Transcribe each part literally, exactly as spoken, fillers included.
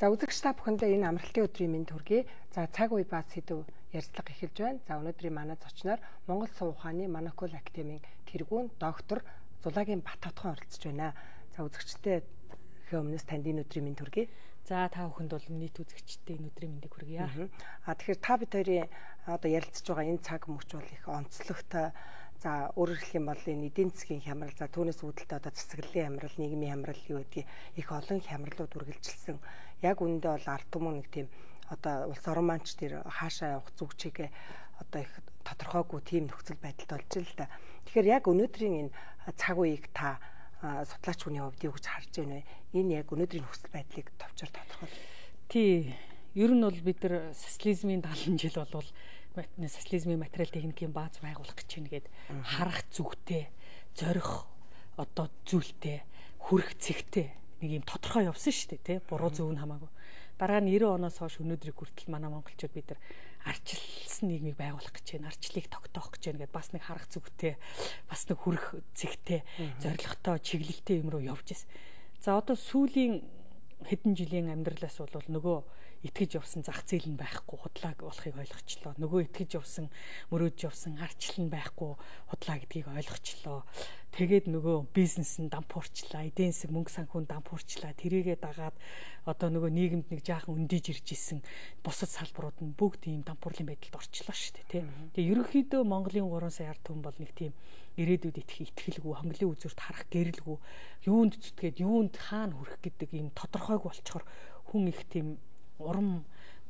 За үзэгч та бүхэндээ энэ амралтын өдрийн мэнд хүргэе. За цаг үе ба сэдв ярилцлага эхэлж байна. За өнөөдрийн манай зочноор Монгол Сувь ухааны Монокул академийн тэргүүн доктор Зулагийн Баттотхон оролцож байна. За үзэгчтэй өмнөөс танд энэ өдрийн мэнд хүргэе. За та бүхэнд бол нийт үзэгчтэй энэ өдрийн мэндийг хүргье. А тэгэхээр та бид хоёрын одоо ярилцж байгаа энэ цаг мөч бол их онцлогтой. За өөрөөр хэлэх юм бол энэ эдийн засгийн хямрал, за түүнээс үүдэлтэй одоо засаглалын хямрал, нийгмийн хямрал юу гэдгийг их олон хямралууд үргэлжилсэн. Яг үүндээ бол ард түмэн нэг тийм одоо улс орон манч тэр хаашаа явах зүг чигээ одоо их тодорхойгүй тийм нөхцөл байдалд болж л да. Тэгэхээр яг өнөөдрийн энэ цаг үеийг та судлаач хүний хувьд юу гэж харж байна вэ? Энэ яг өнөөдрийн нөхцөл байдлыг товчоор тодорхойл. Тий, ер нь бол бид нар социализмын дагалан жил болвол социализмын материал техникийн бааз байгуулах гэж байна гэд харах зүгтэй, зорих одоо зүйлтэй, хүрх цэгтэй нэг юм тодорхой явсан шүү дээ, тий. Буруу зөв нь хамаагүй. Дараа нь девяносто оноос хойш өнөөдрийг хүртэл манай монголчууд бид нар арчилсан нийгмийг байгуулах гэж байна, арчлыг тогтоох гэж байна гэд бас нэг харах зүгтэй, бас нэг хүрх цэгтэй, зоригтой, чиглэлтэй юм руу явж ирсэн. За одоо сүүлийн хэдэн жилийн амьдралаас бол нөгөө итгэж явсан зах зээл нь байхгүй худлаа болохыг ойлгочлоо. Нөгөө итгэж явсан, мөрөөдж явсан арчлал нь байхгүй худлаа гэдгийг ойлгочлоо. Тэгээд нөгөө бизнес нь дампуурчлаа, эдийн засаг мөнгө санхүүнд дампуурчлаа. Тэрийгээ дагаад одоо нөгөө нийгэмд нэг жаахан өндийж ирж исэн бусад салбарууд нь бүгд ийм дампуурлын байдалд орчлоо шүү дээ, тий. Тэгээ ерөнхийдөө Монголын гурван сая ард түмэн бол нэг тийм ирээдүйд итгэх итгэлгүй, хонглын үзүүрт харах гэрэлгүй, юунд зүтгээд юунд хаана хүрэх гэдэг ийм тодорхойг болчоор хүн их тийм урам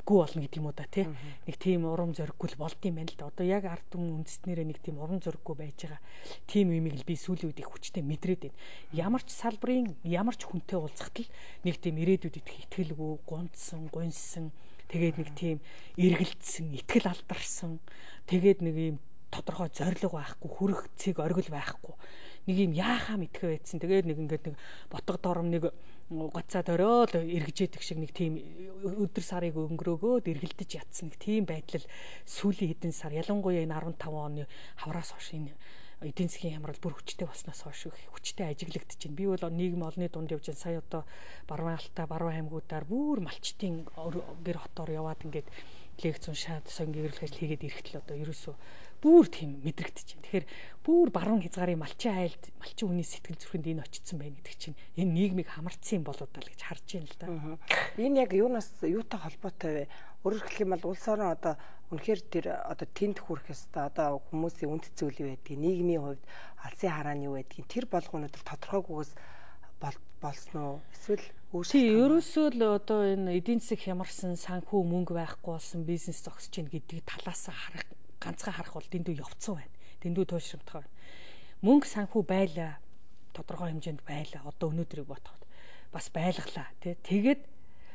гүү болно гэдэг юм уу да, тий. Нэг тийм урам зориггүй болд юм байна л да. Одоо яг ард түмэн үндэснэрээ нэг тийм урам зориггүй байж байгаа. Тийм юмыг л би сүүлийн үед их хүчтэй мэдрээд байна. Ямар ч салбарын ямар ч хүнтэй уулзахад л нэг тийм ирээдүйд итгэх итгэлгүй, гунцсан, гуньсан, тэгээд нэг тийм эргэлдсэн, итгэл алдарсан, тэгээд нэг юм тодорхой зориг байхгүй, хүрэх цэг оргил байхгүй. Нэг юм яахаа мэдхэ байдсан. Тэгээд нэг ингээд нэг ботго дором нэг гоцаад ороод эргэжээдэг шиг нэг тийм өдөр сарыг өнгөрөөгөөд эргэлдэж ятсан нэг тийм байдал сүүлийн хэдэн сар, ялангуяа энэ арван таван оны хавраас хойш энэ эдийн засгийн хямрал бүр хүчтэй болсноос хойш хүчтэй ажиглагдаж байна. Би бол нийгэм олонний дунд явж сая одоо Баруун Алтай, Баруун аймагуудаар бүр малчтын гэр хотоор яваад ингээд лекц уншаад сонгийн гэрэл ажил хийгээд ирэхтэл одоо ерөөсөө бүр тийм мэдрэгдэж байна. Тэгэхээр бүр баруун хязгаарын малчин айлд малчин хүний сэтгэл зүрхэнд энэ очсон байна гэдэг чинь энэ нийгмийг хамарцсан юм болоо даа л гэж харж байна л да. Энэ яг юунаас юутай холбоотой вэ? Өөрөөр хэлэх юм бол улс орон одоо үнэхээр тэр одоо тэнд хүрэх ёстой одоо хүмүүсийн үнд зүйл юу байдгийг, нийгмийн хувьд алсын харааны юу байдгийг тэр болгоонууд тодорхойгүйгээс болсон уу? Эсвэл тий, ерөөсөө л одоо энэ эдийн засаг хямарсан, санхүү мөнгө байхгүй болсон, бизнес зогсож гин гэдэг талаас харах ганцхан харах бол дэндүү явцсан байна. Дэндүү туйлшрамтгай байна. Мөнгө санхүү байлаа, тодорхой хэмжээнд байлаа. Одоо өнөөдрийг бодоход бас байлглаа, тий. Тэгээд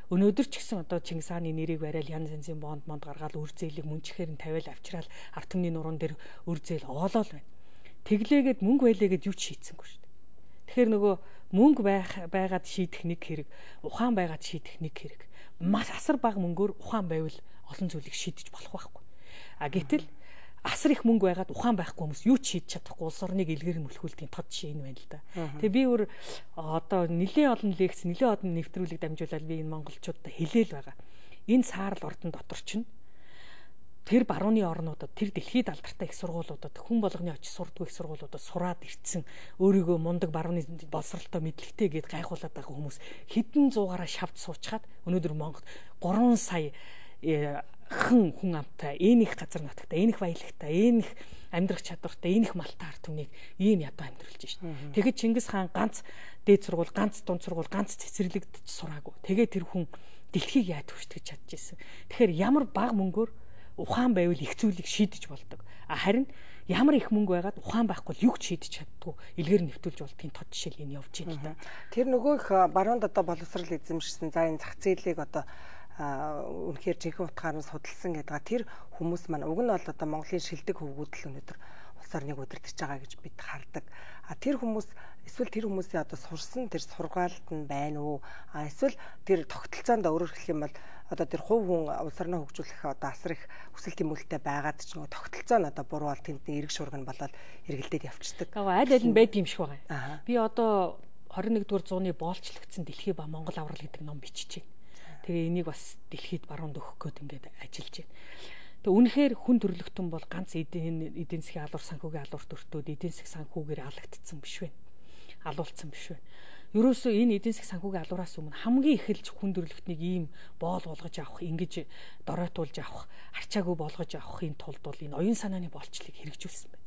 өнөөдөр ч гэсэн одоо Чингис хааны нэрийг барайл янз янзын бонд монд гаргаад үр зээлийг мөнчхээр нь тавиал авчраал ард түмний нуруунд дээр үр зээл оолол байна. Тэглээгээд мөнгө байлээгээд юу ч шийдсэнгүй шүү дээ. Тэгэхээр нөгөө мөнгө байх байгаад шийдэх нэг хэрэг, ухаан байгаад шийдэх нэг хэрэг. Маш асар бага мөнгөөр ухаан байвал олон зүйлийг шийдэж болох байхгүй. А гэтэл асар их мөнгө байгаад ухаан байхгүй хүмүүс юу ч шийдэж чадахгүй улс орныг илгээр нь мөлхүүлдэг тод жишээ энэ байна л да. Тэгээ би өөр одоо нэлээд олон лекц, нэлээд олон нэвтрүүлэг дамжуулаад би энэ монголчуудад хэлээл байгаа. Энэ саарл ордон дотор чинь тэр барууны орнуудад, тэр дэлхийд алдартай их сургуулиудад хүн болгоны очиж сурдгүй их сургуулиудад сураад ирсэн өөрийгөө мундаг барууны боловсралтай мэдлэгтэй гээд гайхуулаад байгаа хүмүүс хэдэн зуугаараа шавж суучгаад өнөөдөр Монгол гурван сая хэн хүн амтай, энэ их газар нутагтай, энэ их баялагтай, энэ их амьдрах чадвартай, энэ их малтай ард түмнийг ийм ядуу амьдруулж шин. Тэгэхэд Чингис хаан ганц дээд сургууль, ганц дунд сургууль, ганц цэцэрлэгдэж сураагүй. Тэгээд тэр хүн дэлхийг яаж хүчтгэж чадчихсан. Тэгэхээр ямар бага мөнгөөр ухаан байвал их зүйлийг шийдэж болдог. А харин ямар их мөнгө байгаад ухаан байхгүй юу ч шийдэж чаддгүй илгээр нэвтүүлж болдгийн тод жишээл энэ явж байна л да. Тэр нөгөө их баруунд одоо боловсрал эзэмшсэн за энэ зах зээлийг одоо үнэхээр жинхэнэ утгаараа судалсан гэдэг. Тэр хүмүүс маань уг нь бол одоо Монголын шилдэг хөвгүүдл өнөөдөр улс орныг удирдах байгаа гэж бид хардаг. А тэр хүмүүс эсвэл тэр хүмүүсийн одоо сурсан тэр сургаалт нь байна уу? А эсвэл тэр тогтолцоонд өөрөөр хэлэх юм бол одоо тэр хувь хүн улс орноо хөгжүүлэх одоо асар их хүсэл тэмүүлэлтэй байгаад ч нөгөө тогтолцоо нь одоо буруу бол тэнд эрг шуурга нь болоод эргэлдээд явчихдаг. Аль аль нь байдаг юм шиг байгаа. Би одоо хорин нэгдүгээр зууны боолчлогдсон дэлхий ба Монгол аврал гэдэг ном бичиж байна. Тэгээ энийг бас дэлхийд баруунд өгөх гээд ингээд ажиллаж байна. Тэгээ үнэхээр хүн төрөлхтөн бол ганц эдийн эдийн засгийн алуурс санхүүгийн алуурт өртөөд эдийн засгийн санхүүгээр алагдсан биш вэ? Алуулсан биш вэ? Ерөөсөө энэ эдийн засгийн санхүүгийн алуураас өмнө хамгийн эхэлж хүн төрөлхтнийг ийм боол болгож авах, ингэж доройтуулж авах, арчаагүй болгож авахын тулд бол энэ оюун санааны боолчлыг хэрэгжүүлсэн байна.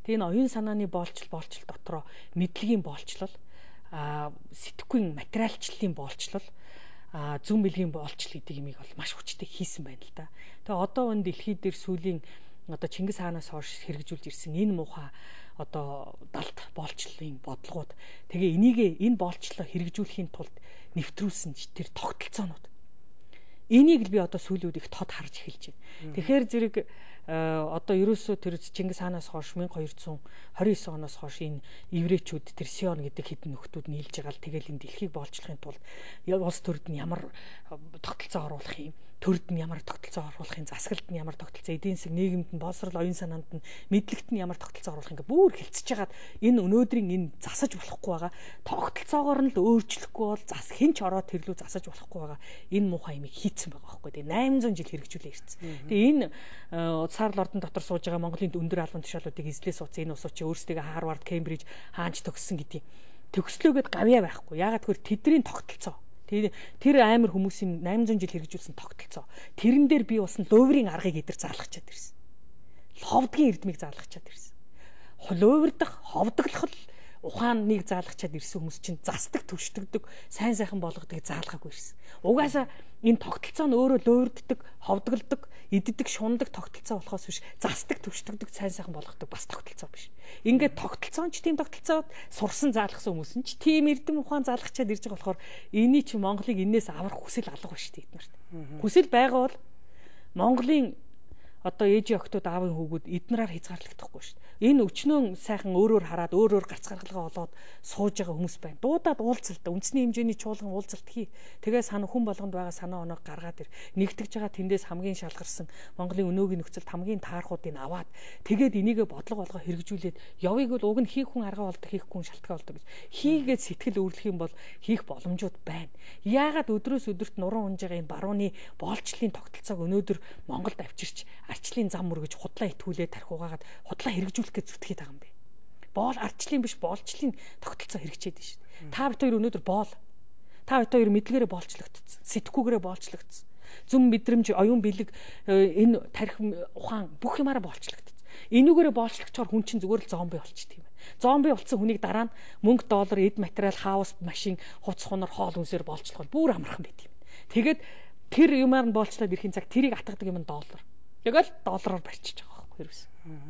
Тэгээ энэ оюун санааны боолчл боолчл дотроо мэдлэгийн боолчлол, а сэтгхүйн материалчлалын боолчлол, а зүүн бэлгийн боолчл гэдэг юмыг бол маш хүчтэй хийсэн байна л да. Тэгээ одоо энэ дэлхийд дээр сүүлийн одоо Чингис хаанаас хойш хэрэгжүүлж ирсэн энэ муухай одоо далд боолчлын бодлогууд тэгээ энийг энэ боолчлоо хэрэгжүүлэхийн тулд нэвтрүүлсэн тэр тогтолцоонууд энийг л би одоо сүүлүүд их тод харж эхэлж байна. Тэгэхээр зэрэг одоо ерөөсөө тэр Чингис хаанаас хойш 천deux cent twenty nine оноос хойш энэ еврейчүүд тэр Сион гэдэг хэдэн нөхдүүд нийлж байгаа л тэгэл энэ дэлхийг боолчлохын тулд улс төрд нь ямар тогтолцоо оруулах юм, төрд нь ямар тогтолцоо оруулахын, засаглалд нь ямар тогтолцоо, эдийн засаг нийгэмд нь боловсрол оюун санаанд нь мэдлэгт нь ямар тогтолцоо оруулах ингээ бүр хэлцэж хагаад энэ өнөөдрийн энэ засаж болохгүй байгаа тогтолцоогоор нь л өөрчлөхгүй бол зас хинч ороод тэрлүү засаж болохгүй байгаа энэ муухай юмыг хийцэн байгаа байхгүй. Тэгээ eight hundred жил хэрэгжүүлээ ирсэн. Тэгээ энэ саарл ордон дотор сууж байгаа Монголын өндөр албан тушаалуудыг эзлээ сууц энэ усууд чи өөрсдөө Харвард, Кембриж хаанч төгссөн гэдэг төгслөөгöd гавьяа байхгүй. Ягаад гэвэл тэдний тогтолцоо тэр тэр амар хүмүүсийн eight hundred жил хэрэгжүүлсэн тогтолцоо тэрэн дээр би усан луврын аргыг эдэр заалгачаад ирсэн. Ховдгийн эрдмийг заалгачаад ирсэн. Луврдах, ховдоглох ухааныг заалгачаад ирсэн хүмүүс чинь застдаг, түшдэгдэг, сайн сайхан болгодгийг заалгаагүй ирсэн. Угаасаа энэ тогтолцоо нь өөрөө луурддаг, ховдголдог, иддэг, шундаг тогтолцоо болохоос биш, застдаг, түшдэгдэг, сайн сайхан болгодог бас тогтолцоо биш. Ингээд тогтолцоон ч тийм тогтолцоод сурсан заалгасан хүмүүс нь ч тийм эрдэм ухаан заалгачаад ирж байгаа болохоор эний чи Монголыг энээс аврах хүсэл алга ба шүү дээ эднэрт. Хүсэл байгаа бол Монголын одоо ээжийн охтууд аавын хүүгүүд эднэрээр хязгаарлагдахгүй шүү дээ. Энэ өчнөө сайхан өөрөөр хараад өөрөөр гарц гаргалгаа олоод сууж байгаа хүмүүс байна. Дуудаад уулзалт, үндэсний хэмжээний чуулган уулзалт хий. Тэгээ санаа хүн болгонд байгаа санаа оноо гаргаад ир. Нэгтгэж байгаа тэндээс хамгийн шалгарсан Монголын өнөөгийн нөхцөлд хамгийн таархуудыг аваад тэгээд энийг бодлого болгоо хэрэгжүүлээд явыг бол уг нь хийх хүн арга болдог, хийхгүй хүн шалтгаан болдог гэж. Хийгээд сэтгэл өөрлөх юм бол хийх боломжууд байна. Яагаад өдрөөс өдөрт нуруу унж байгаа энэ барууны боолчлын тогтолцоог өнөөдөр Монголд авчирч арчлын зам мөргөж худлаа итгүүлээд тарих угаагаад худлаа хэрэгжүүлэх гэж зүтгэж байгаа юм бэ. Боол арчлын биш боолчлын тогтолцоо хэрэгжээд байна шүү дээ. Та бид хоёр өнөөдөр боол. Та бид хоёр мэдлэгээрээ боолчлогдсон. Сэтгхүүгээрээ боолчлогдсон. Зүм мэдрэмж, оюун бэлэг энэ тарих ухаан бүх юмараа боолчлогдсон. Энүүгээрээ боолчлогчоор хүн чинь зүгээр л зомби болчих тийм ээ. Зомби болсон хүнийг дараа нь мөнгө, доллар, эд материал, хаус, машин, хувц хунар, хоол хүнсээр боолчлоход бүр амархан байт юм. Тэгээд тэр юмар нь боолчлоод ирэхин цаг тэрийг атгадаг юм нь доллар. Тэгэл доллараар барьчих байгаа байхгүй юу?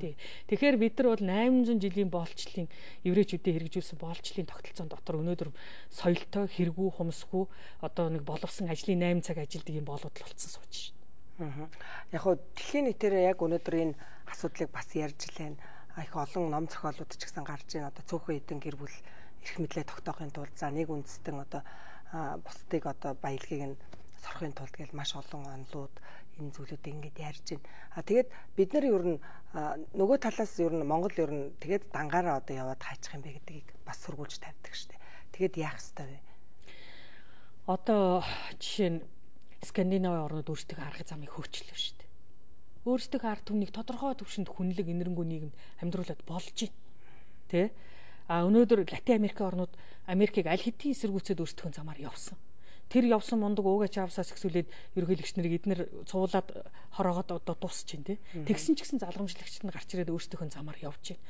Тий. Тэгэхээр бид нар бол eight hundred жилийн боолчлын еврейчүүдийн хэрэгжүүлсэн боолчлын тогтолцоон дотор өнөөдөр соёлтой, хэрэггүй, хумсгүй одоо нэг боловсон ажлын eight цаг ажилдаг юм болоод л болцсон сууж шин. Яг хоо дэлхийн нийтээр яг өнөөдөр энэ асуудлыг бас ярьж лээ. Их олон ном зохиолууд ч гэсэн гарч ийн одоо цөөхөн эдэн гэр бүл эрх мэдлээ тогтоохын тулд за нэг үндэстэн одоо бусдыг одоо баялагийг нь сорохын тулд гэж маш олон онлууд энэ зүйлүүдийг ингээд ярьж байна. А тэгээд бид нар ер нь нөгөө талаас ер нь Монгол ер нь тэгээд дангаараа одоо яваад хайчих юм бэ гэдгийг бас сургуулж тавьдаг штэ. Тэгээд яах ёстой вэ? Одоо жишээ нь Скандинавын орнууд өөрсдөө арга замыг хөөчлөө штэ. Өөрсдөө арга түмнийг тодорхой төвшөнд хүнлэг энэрэнгүй нийгэмд амьдруулад болж байна. Тэ? А өнөөдөр Латин Америкийн орнууд Америкийг аль хэдийн эсэргүүцээд өөрсдөө замаар явсан. Тэр явсан мундаг уугаа чавсаас ихсүүлээд ерөнхийлөгч нарыг эднэр цуулаад хороогоод одоо дуусч байна тий. Тэгсэн ч гэсэн залгамжлагчид нь гарч ирээд өөрсдийнхөө замаар явж байна.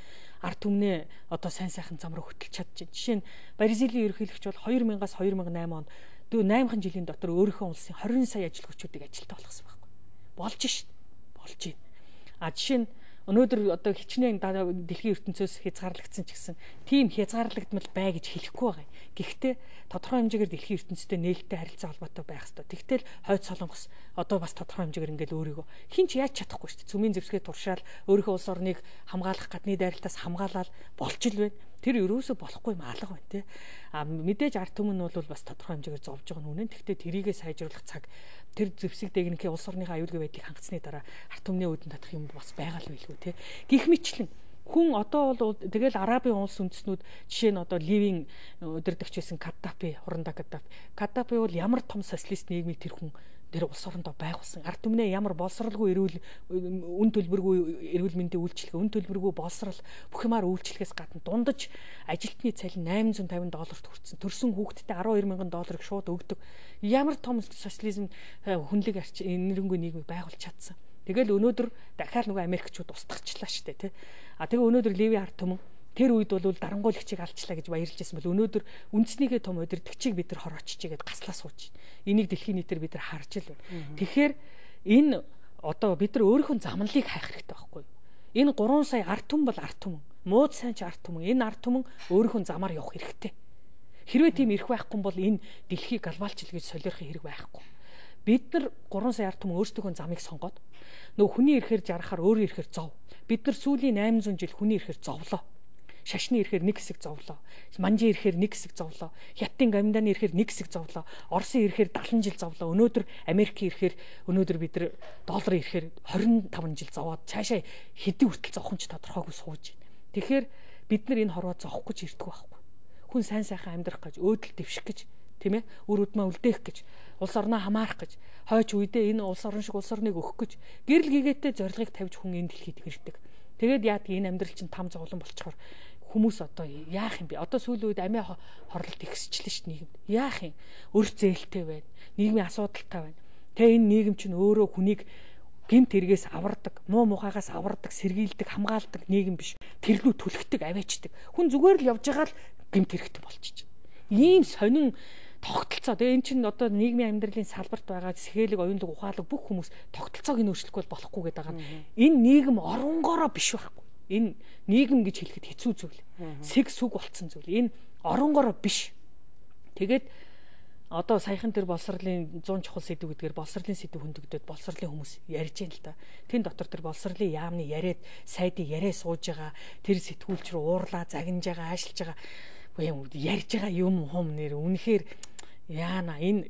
Ард түмнээ одоо сайн сайхан зам руу хөтлөж чадчихжээ. Жишээ нь Бразилийн ерөнхийлөгч бол two thousand-аас two thousand eight онд наймхан жилийн дотор өөрийнхөө улсын twenty сая ажил хүчүүдийг ажилтаа болгосон байхгүй. Болж шин. Болж байна. А жишээ нь өнөөдөр одоо хичнээн дэлхийн ертөнцөөс хязгаарлагдсан ч гэсэн тийм хязгаарлагдмал бай гэж хэлэхгүй байгаа. Гэхдээ тодорхой хэмжээгээр дэлхийн ертөнцтэй нээлттэй харилцаа холбоотой байх хэрэгтэй. Тэгтэл хойд солонгос одоо бас тодорхой хэмжээгээр ингээл өөрийгөө хинч яаж чадахгүй шүү дээ. Цөмийн зэвсгээ туршаал өөрийнхөө улс орныг хамгаалах гадны дайралтаас хамгаалаад болж л байна. Тэр ерөөсө болохгүй юм алга байна те. А мэдээж ард түмэн нь бол бас тодорхой хэмжээгээр зовж байгаа нь үнэн. Тэгвэл тэрийгэ сайжруулах цаг тэр зэвсэг дээгнэхээ улс орныхаа аюулгүй байдлыг хангацсны дараа ард түмний үүдэн татах юм бас байгаа л байлгүй те. Гэх мэтлэн Хүн одоо бол тэгэл Арабын улс үндэстнүүд жишээ нь одоо Ливийн өдөрдөгч байсан Каддафи, хурандаа Каддафи. Каддафи бол ямар том социалист нийгмийг тэр хүн тэр улс орондоо байгуулсан. Ард түмнээ ямар боловсралгүй эрүүл үн төлбөргүй эрүүл мэндийн үйлчилгээ, үн төлбөргүй боловсрал бүх юмар үйлчлэхээс гадна дундаж ажилтны цалин восемь hundred fifty долларт хүрсэн. Төрсөн хүүхэдтэй twelve thousand долларыг шууд өгдөг. Ямар том социализм хүнлэг арч энэрэнгүй нийгмийг байгуулж чадсан. Тэгэл өнөөдөр дахиад нөгөө Америкчууд устгахчлаа шүү дээ, тий. А тэгээ өнөөдөр Ливийн ард түмэн тэр үед бол дарангуйлагчийг алчлаа гэж баярлж байсан бол өнөөдөр үндснийхээ том удирдгчийг бид нар хорооччихгээд гаслаа сууж байна. Энийг дэлхийн нийтээр бид нар харж л байна. Тэгэхээр энэ одоо бид нар өөрийнхөө замналыг хайх хэрэгтэй байхгүй юу? Энэ three сая ард түмэн бол ард түмэн. Мууд сайн ч ард түмэн. Энэ ард түмэн өөрийнхөө замаар явах хэрэгтэй. Хэрвээ тийм ирэх байхгүй бол энэ дэлхийг глобалчил гэж солиорохын хэрэг байхгүй. Бид нар three сая ард түмэн өөрсдийнхөө замыг сонгоод нөгөө хүний ирэхээр жаргахаар өөрөө ирэхээр зов. Бид нар сүүлийн eight hundred жил хүний ирэхээр зовлоо. Шашны ирэхээр нэг хэсэг зовлоо. Манжийн ирэхээр нэг хэсэг зовлоо. Хятадын гамданы ирэхээр нэг хэсэг зовлоо. Оросын ирэхээр seventy жил зовлоо. Өнөөдөр Америкийн ирэхээр өнөөдөр бид нар долларын ирэхээр twenty-five жил зовоод цаашаа хэдий хүртэл зовхон ч тодорхойгүй сууж байна. Тэгэхээр бид нар энэ хорвоо зовох гэж ирдэг байхгүй. Хүн сайн сайхан амьдрах гэж, өөдөл дэвших гэж, тийм ээ? Үр удмаа үлдээх гэж, улс орноо хамаарах гэж, хойч үедээ энэ улс орн шиг улс орныг өгөх гэж гэрэл гээгээтэй зорилгыг тавьж хүн энэ дэлхийд ирдэг. Тэгээд яадаг энэ амьдрал чинь там зовлон болчихоор хүмүүс одоо яах юм бэ? Одоо сүүлийн үед амиа хорлолт ихсчихлээ шүү дээ нийгэмд. Яах юм? Өрх зээлтэй байна. Нийгмийн асуудалтай байна. Тэгээ энэ нийгэм чинь өөрөө хүнийг гэмт хэрэгээс авардаг, муу мухагаас авардаг, сэргийлдэг, хамгаалдаг нийгэм биш. Тэрлүү түлхдэг, аваачдаг. Хүн зүгээр л явж байгаа л гэмт хэрэгтэй болчихж байна. Ийм сонин тогтолцоо. Тэгээ эн чинь одоо нийгмийн амьдралын салбарт байгаа сэхэлэг, оюунлаг, ухаалаг бүх хүмүүс тогтолцоог нь өөрчлөхгүй болохгүй гэдэг байгаа. Энэ нийгэм оронгороо биш байхгүй. Энэ нийгэм гэж хэлэхэд хэцүү зүйл. Сэг сүг болцсон зүйл. Энэ оронгороо биш. Тэгээд одоо саяхан тэр боловсролын one hundred чухал сэдв гэдгээр боловсролын сэдв хөндөгдөд боловсролын хүмүүс ярьж байна л да. Тэн дотор тэр боловсролын яамны яриад сайдын яриа сууж байгаа, тэр сэтгүүлч рүү уурлаа, загнаж байгаа, аашилж байгаа юм ярьж байгаа юм хум нэр үнэхээр яана энэ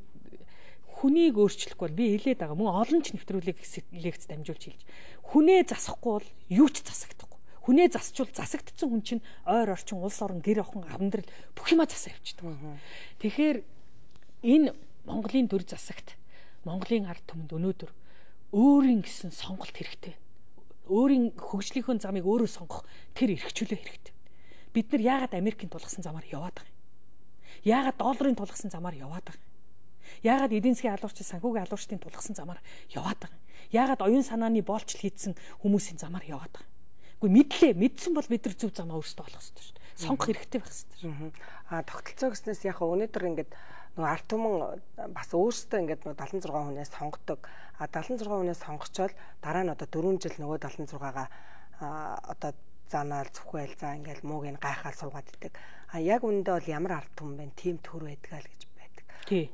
хүнийг өөрчлөхгүй бол би хэлээд байгаа мөн олон ч нэвтрүүлэг лекц дамжуулж хэлж хүнээ засахгүй бол юу ч засагдахгүй. Хүнээ засчвал засагдсан хүн чинь ойр орчин улс орон гэр охин амьдрал бүх юма засаа явчихдаг. Тэгэхээр энэ Монголын төр засагт Монголын ард түмэнд өнөөдөр өөрийн гэсэн сонголт хэрэгтэй. Өөрийн хөгжлийнхөө замыг өөрөө сонгох тэр эрхчлөө хэрэгтэй. Бид нар яагаад Америкийн тулгасан замаар яваад байгаа юм? Яагаад долларын тулгасан замаар яваад байгаа юм? Яагаад эдийн засгийн алуурчин, санхүүгийн алуурчдын тулгасан замаар яваад байгаа юм? Яагаад оюун санааны боолчл хийдсэн хүмүүсийн замаар яваад байгаа юм? Үгүй мэдлээ, мэдсэн бол бид нар зөв замаа өөрсдөө олох хэрэгтэй шүү дээ. Сонгох хэрэгтэй байх хэрэгтэй шүү. Аа тогтолцоо гэснээс яг өнөөдөр ингээд нөгөө ард түмэн бас өөрсдөө ингээд нөгөө seventy-six хүнээс сонгодог. А seventy-six хүнээс сонгочоод дараа нь одоо four жил нөгөө seventy-six-аагаа одоо занаал зүхвэл за ингээл мууг нь гайхаал суугаад идэг. А яг үндэ бол ямар ард түмэн байна, тийм төр байдгаа л гэж байдаг.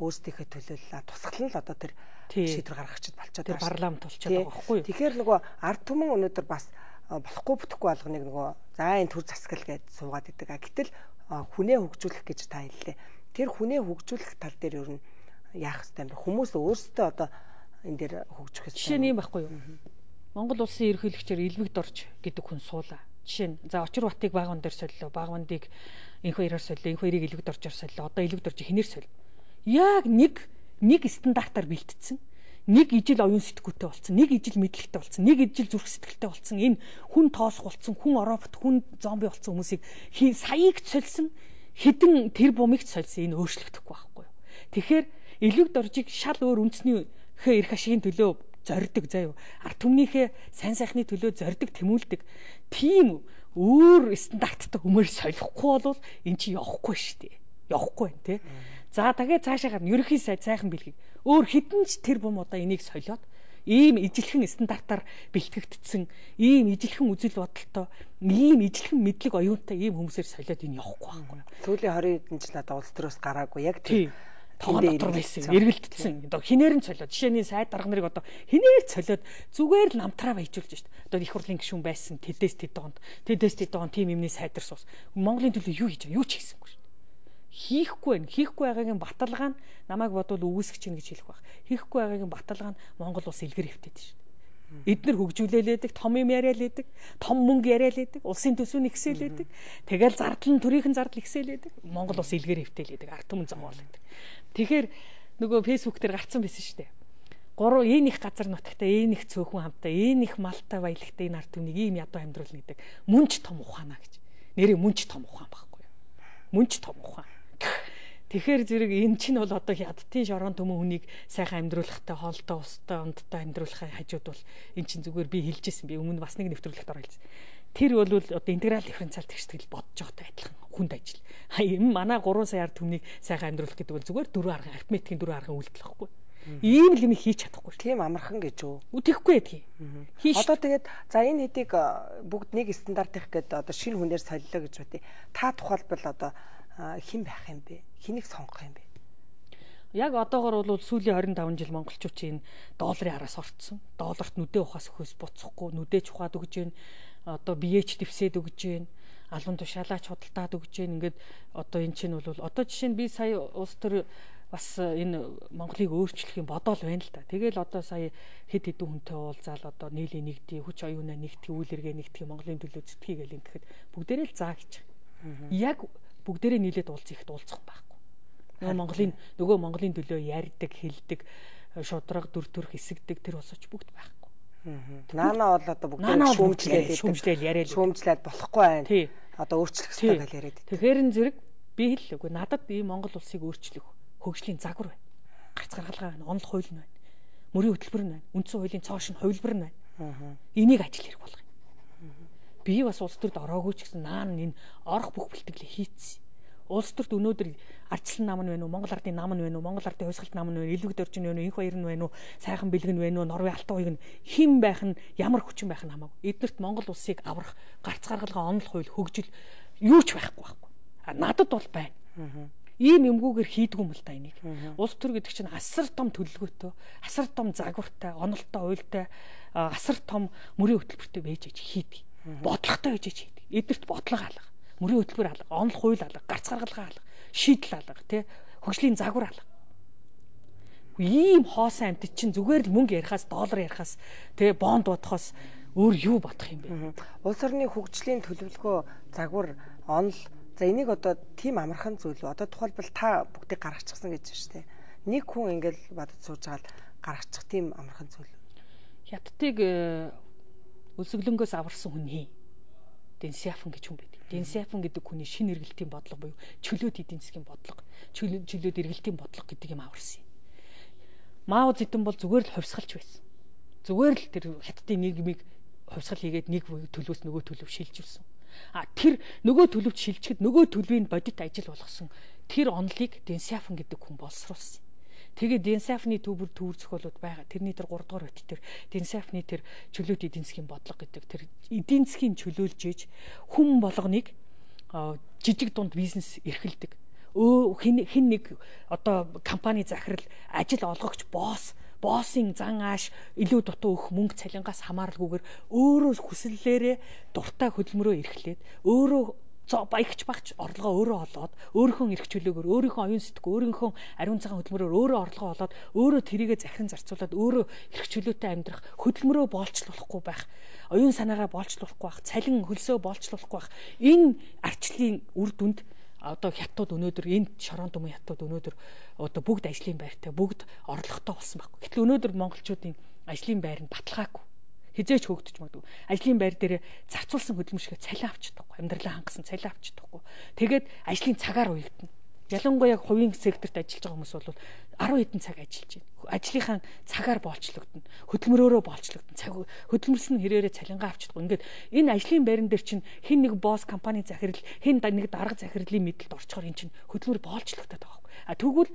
Өөрсдийнхөө төлөөлөл тусгалан л одоо тэр шийдвэр гаргахчид болчиход байгаа. Парламент болчиход байгаа байхгүй юу? Тэгэхээр нөгөө ард түмэн өнөөдөр бас болохгүй бүтэхгүй болгоныг нөгөө за энэ төр засгал гэж суугаад идэг. А гэтэл хүнээ хөгжүүлэх гэж та хэллээ. Тэр хүнээ хөгжүүлэх тал дээр ер нь яах ёстой юм бэ? Хүмүүс өөрсдөө одоо энэ дээр хөгжих ёстой. Жишээ нь юм байхгүй юу? Монгол улсын ерөнхийлөгчөөр Илвэг Дорж гэдэг хүн суулаа. Жишээ нь за Очир Батыг Багван дээр солилоо, Багвандыг энх хоёроор солилоо, энх хоёрыг Илвэг Доржоор солилоо. Одоо Илвэг Дорж хинээр солив. Яг нэг нэг стандартаар бэлтцсэн. Нэг ижил оюун сэтгүүтэй болсон, нэг ижил мэдлэгтэй болсон, нэг ижил зүрх сэтгэлтэй болсон. Энэ хүн тоосх болсон, хүн оробот, хүн зомби болсон хүмүүсийг саяыг сольсон, хэдэн тэр бумыг сольсон. Энэ өөрчлөгдөхгүй байхгүй юу? Тэгэхээр Илвэг Доржийг шал өөр үндэсний эрх ашигын төлөө зорддог заяа. Ард түмнийхээ сайн сайхны төлөө зорддог, тэмүүлдэг. Тийм өөр стандарттай хүмүүр солихгүй бол эн чинь явахгүй шүү дээ. Явахгүй байна тий. За тэгээд цаашаа гарна. Ерөнхий сайд сайхан бэлгийг өөр хідэн ч тэр бум одоо энийг солиод ийм ижилхэн стандартаар бэлтгэгдсэн, ийм ижилхэн үзэл бодолтой, ийм ижилхэн мэдлэг оюунтай ийм хүмүүсээр солиод энэ явахгүй байхгүй. Сүүлийн twenty хэдэн жил одоо улс төрөөс гараагүй яг тийм тоон дотор байсан, эргэлдсэн. Одоо хинээр нь солиод, жишээний сайд дарга нарыг одоо хинээр солиод зүгээр л намтраа баяжуулж шít. Одоо их хурлын гишүүн байсан, тэдэс тэдонд, тэдэс тэдонд тим юмны сайдар суус. Монголын төлөө юу хийж байгаа, юу ч хийсэнгүй шít. Хийхгүй байх, хийхгүй байгаагийн баталгаа нь намайг бодвол үгүйсгэж чинь гэж хэлэх байх. Хийхгүй байгаагийн баталгаа нь Монгол улс илгэр хөвтөд шít. Эднэр хөгжүүлээлээдэг, том юм яриалээдэг, том мөнгө яриалээдэг, улсын төсвийг ихсээлээдэг. Тэгэл зардал нь төрийнхэн зардал ихсээлээдэг. Монгол улс илгээр хөвтээлээдэг, ард түмэн зовоолээдэг. Тэгэхээр нөгөө фэйсбүүк дээр гарцсан байсан шүү дээ. Гурав энэ их газар нутагтай, энэ их цөөхөн хамтаа, энэ их малтай баялагтай энэ ард түмнийг ийм ядуу амьдруулна гэдэг. Мөн ч том ухаанаа гэж. Нэрээ мөн ч том ухаан байхгүй юу? Мөн ч том ухаан. Тэгэхээр зэрэг энэ чинь бол одоо хятадын шорон төмөн хүнийг сайхан амьдруулахтай, хоолтой, устай, ундтай амьдруулахын хажууд бол энэ чинь зүгээр би хэлжсэн. Би өмнө бас нэг нэвтрүүлэгт оруулсан. Тэр бол одоо интеграл дифференциал тэгштгэл бодож байгаатай адилхан хүнд ажил. Энэ манай гурван сая ард түмнийг сайхан амьдруулах гэдэг бол зүгээр дөрвөн арган арифметикийн дөрвөн арган үйлдэл байхгүй. Ийм л юм хийж чадахгүй. Тийм амархан гэж үү? Үтэхгүй байдгийг. Одоо тэгээд за энэ хэдийг бүгд нэг стандарт их гэдэг одоо шинэ хүнээр солилоо гэж байтий. Та тухайлбал одоо хэн байх юм бэ? Хэнийг сонгох юм бэ? Яг одоогор бол сүүлийн хорин таван жил монголчуудын долларын араас орцсон. Долларт нүдээ ухаас өхөөс буцахгүй, нүдээ чухаад өгж гин, одоо биеэч дэвсээд өгж гин, албан тушаалаач худалдаад өгж гин. Ингээд одоо эн чинь бол одоо жишээ нь би сая улс төр бас энэ Монголыг өөрчлөх юм бодоол байна л да. Тэгэл одоо сая хэд хэдэн хүнтэй уулзаал одоо нийлээ нэгдээ, хүч оюунаа нэгтгэх, үйл эргээ нэгтгэх, Монголын төлөө зүтгэе гэл ингэхэд бүгдээрээ л заа гэж. Яг бүгдээрээ нийлээд уулзах ихт уулзах юм байхгүй. Нөгөө Монголын нөгөө Монголын төлөө ярьдаг, хэлдэг, шудраг, дүр төрх эсэгдэг тэр улсууч бүгд байхгүй. Наана бол одоо бүгд шүүмжлээд шүүмжлээд яриад шүүмжлээд болохгүй байна. Одоо өөрчлөх хэрэгтэй гэж яриад. Тэгэхээр энэ зэрэг би хэллээгүй. Надад ийм Монгол улсыг өөрчлөх хөгжлийн загвар байна. Гарц гаргалгаа байна, онол хууль нь байна. Мөрийн хөтөлбөр нь байна. Үндсэн хуулийн цоошин хувилбар нь байна. Энийг ажил хэрэг болгоё. Би бас улс төрд ороогүй ч гэсэн наан энэ орох бүх бэлтгэлээ хийцсэн. Улс төрд өнөөдөр ардчлан нам нь байна уу, Монгол ардын нам нь байна уу, Монгол ардын хувьсгалт нам нь байна уу, илүүг дөржин байна уу, инх баяр нь байна уу, сайхан бэлэг нь байна уу, Норвей алтан уяг нь хэн байх нь, ямар хүчин байх нь хамаагүй. Эднэрт Монгол улсыг аврах, гарц гаргалгаа онол хууль хөгжил юу ч байхгүй байхгүй. А надад бол байна. Ийм юмгүйгээр хийдгүй юм л та энийг. Улс төр гэдэг чинь асар том төлөвлөгөөтэй, асар том загвартай, онолтой уйлтай, асар том мөрийн хөтөлбөртэй байж аж хийдэг. Бодлоготой байж аж хийдэг. Эднэрт бодлого алга, мөрийн хөтөлбөр алга, онол хууль алга, гарц гаргалгаа алга, шийдэл алга, тий хөгжлийн загвар алга. Ийм хоосон амьтад чинь зүгээр л мөнгө ярихаас, доллар ярихаас, тий бонд бодохоос өөр юу бодох юм бэ? Улс орны хөгжлийн төлөвлөгөө, загвар, онол за энийг одоо тийм амархан зүйл үү? Одоо тухайлбал та бүгдийг гаргачихсан гэж байна шүү дээ. Нэг хүн ингээл бадад сууж байгаа л гаргачих тийм амархан зүйл. Хятадыг өлсгөлөнгөөс аварсан хүний Дэн Сяопин гэж хүн байдаг. Дэн Сяопин гэдэг хүний шинэ эргэлтийн бодлого буюу чөлөөт эдийн засгийн бодлого, чөлөөт чөлөөт эргэлтийн бодлого гэдэг юм аварсан юм. Мао Цзэдун бол зүгээр л хувьсгалч байсан. Зүгээр л тэр Хятадын нийгмийг хувьсгал хийгээд нэг төлөвөөс нөгөө төлөв шилжүүлсэн. А тэр нөгөө төлөвч шилжихэд нөгөө төлөвийн бодит ажил болгосон тэр онолыг Дэн Сяопин гэдэг хүн боловсруулсан. Тэгээд Дэн Сяопины төвөр төвөр зохиолууд байгаа. Тэрний тэр гурав дахь бот тэр Дэн Сяопины тэр чөлөөт эдийн засгийн бодлого гэдэг тэр эдийн засгийн чөлөөлж ээж хүн болгоныг жижиг дунд бизнес эрхэлдэг. Өө хэн хэн нэг одоо компани захирал ажил олгогч босс боссын зан ааш илүү дутуу өгөх мөнгө цалингаас хамааралгүйгээр өөрөө хүслээрээ дуртай хөдөлмөрөө эрхлээд өөрөө баягч багч орлогоо өөрөө олоод өөрийнхөө эрх чөлөөгөөр өөрийнхөө оюун сэтгүү өөрийнхөө ариун цагаан хөдөлмөрөөр өөрөө орлогоо олоод өөрөө тэрийгэ захиран зарцуулаад өөрөө эрх чөлөөтэй амьдрах хөдөлмөрөө боолчлуулахгүй байх оюун санаагаа боолчлуулахгүй байх цалин хөлсөө боолчлуулахгүй байх энэ арчлалын үр дүнд одоо хятад өнөөдөр энэ шорон төмөн хятад өнөөдөр одоо бүгд ажлын байртай бүгд орлоготой болсон байхгүй. Гэтэл өнөөдөр монголчуудын ажлын байр нь баталгаагүй. Хизээч хөөгдөж магадгүй. Ажлын байр дээр зарцуулсан хөдөлмөр шиг цалин авч чадахгүй. Амьдралаа хангасан цалин авч чадахгүй. Тэгээд ажлын цагаар уягдана. Ялангуяа хувийн секторт ажиллаж байгаа хүмүүс бол арван хэдэн цаг ажиллаж байна. Ажлынхаа цагаар боолчлогдно. Хөдөлмөрөөрөө боолчлогдно. Цаг хөдөлмөрсөн хэрээрээ цалингаа авч чадахгүй. Ингээд энэ ажлын байран дээр чинь хэн нэг босс компани захирал, хэн нэг дарга захирлын мэдлэлд орчхоор эн чинь хөдөлмөр боолчлогдоод байгаа байхгүй. А тэгвэл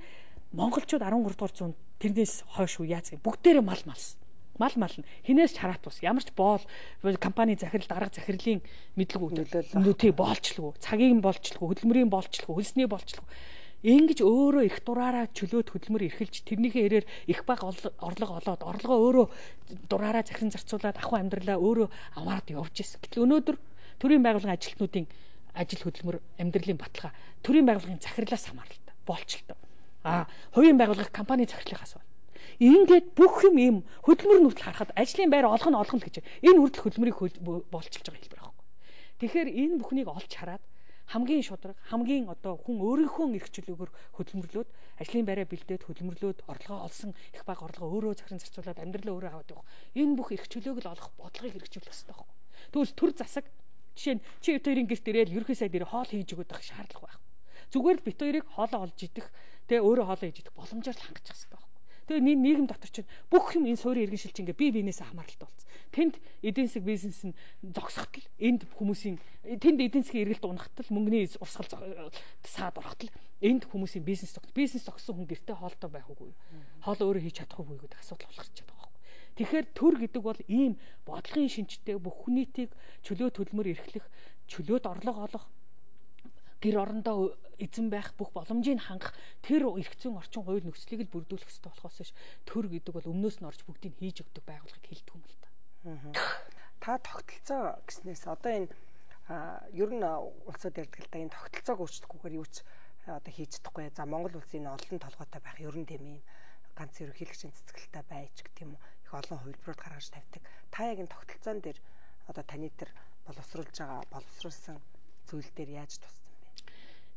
монголчууд арван гурав дугаар зуунд тэрнээс хойш уу яац гэх бүгдээрээ мал малсан. Мал мал нь хинээс ч хараат бус ямар ч боол компани захирал дарга захирлын мэдлэг өгдөл тий боолчлгүй цагийг нь боолчлгүй хөдөлмөрийн боолчлгүй хөлсний боолчлгүй ингэж өөрөө их дураараа чөлөөт хөдөлмөр эрхэлж тэрнийхээ хэрээр их бага орлого олоод орлогоо өөрөө дураараа захиран зарцуулаад ахуй амьдралаа өөрөө аваад явж ирсэн. Гэтэл өнөөдөр төрийн байгууллагын ажилтнуудын ажил хөдөлмөр амьдралын баталгаа төрийн байгууллагын захирлаас хамааралтай боолчлоо. А хувийн байгууллага компани захирлынхаас байна. Ингээд бүх юм ийм хөдөлмөр нүртэл харахад ажлын байр олох нь олох нь гэж энэ хүртэл хөдөлмөрийг болчилж байгаа хэлбэр байхгүй. Тэгэхээр энэ бүхнийг олж хараад хамгийн шударга, хамгийн одоо хүн өөрийнхөө эрх чөлөөгөөр хөдөлмөрлөөд ажлын байраа бэлдээд хөдөлмөрлөөд орлогоо олсон их бага орлогоо өөрөө захиран зарцуулаад амьдралаа өөрөө аваад явах. Энэ бүх эрх чөлөөг л олох бодлогыг хэрэгжүүлэх хэрэгтэй байхгүй. Тэгвэл төр засаг жишээ нь чи бит хоёрын гэрт ирээл ерөнхий сайд ирээ хоол хийж өгөх шаардлага байхгүй. Зүгээр л бит хоёрыг хоолоо олж идэх, тэгээ өөрөө хоолоо хийж идэх боломжоор л хангах хэрэгтэй байхгүй. Тэгээ нийгэм дотор чинь бүх юм энэ суурийн иргэн шилж ингээ бие биенээс хамааралтай болсон. Тэнд эдийн засаг бизнес нь зогсохтол энд хүмүүсийн тэнд эдийн засгийн эргэлт унахтал мөнгөний урсгал саад орохтол энд хүмүүсийн бизнес зогс бизнес зогссон хүн гэртээ хоолтой байх үгүй. Хоол өөрөө хийж чадах үгүй гэдэг асуудал болох ч байгаа байхгүй. Тэгэхээр төр гэдэг бол ийм бодлогын шинжтэй бүх нийтийг чөлөө төлмөр эрхлэх, чөлөөт орлого олох, гэр орондоо эзэн байх бүх боломжийг хангах тэр эрх зүйн орчин хууль нөхцөлийг л бүрдүүлэх хэрэгтэй болохоос биш төр гэдэг бол өмнөөс нь орж бүгдийг хийж өгдөг байгууллагыг хэлдэг юм л та. Та тогтолцоо гэснээс одоо энэ ер нь улсууд ярьдаг л да энэ тогтолцоог өөрчлөхгүйгээр юу ч одоо хийж чадахгүй. За Монгол улсын олон толгойтой байх ер нь тийм юм ганц ерөнхийлөгчийн цэцгэлтэй байж гэх юм их олон хувилбарууд гаргаж тавьдаг. Та яг энэ тогтолцоон дээр одоо таны тэр боловсруулж байгаа боловсруулсан зүйл дээр яаж туссан?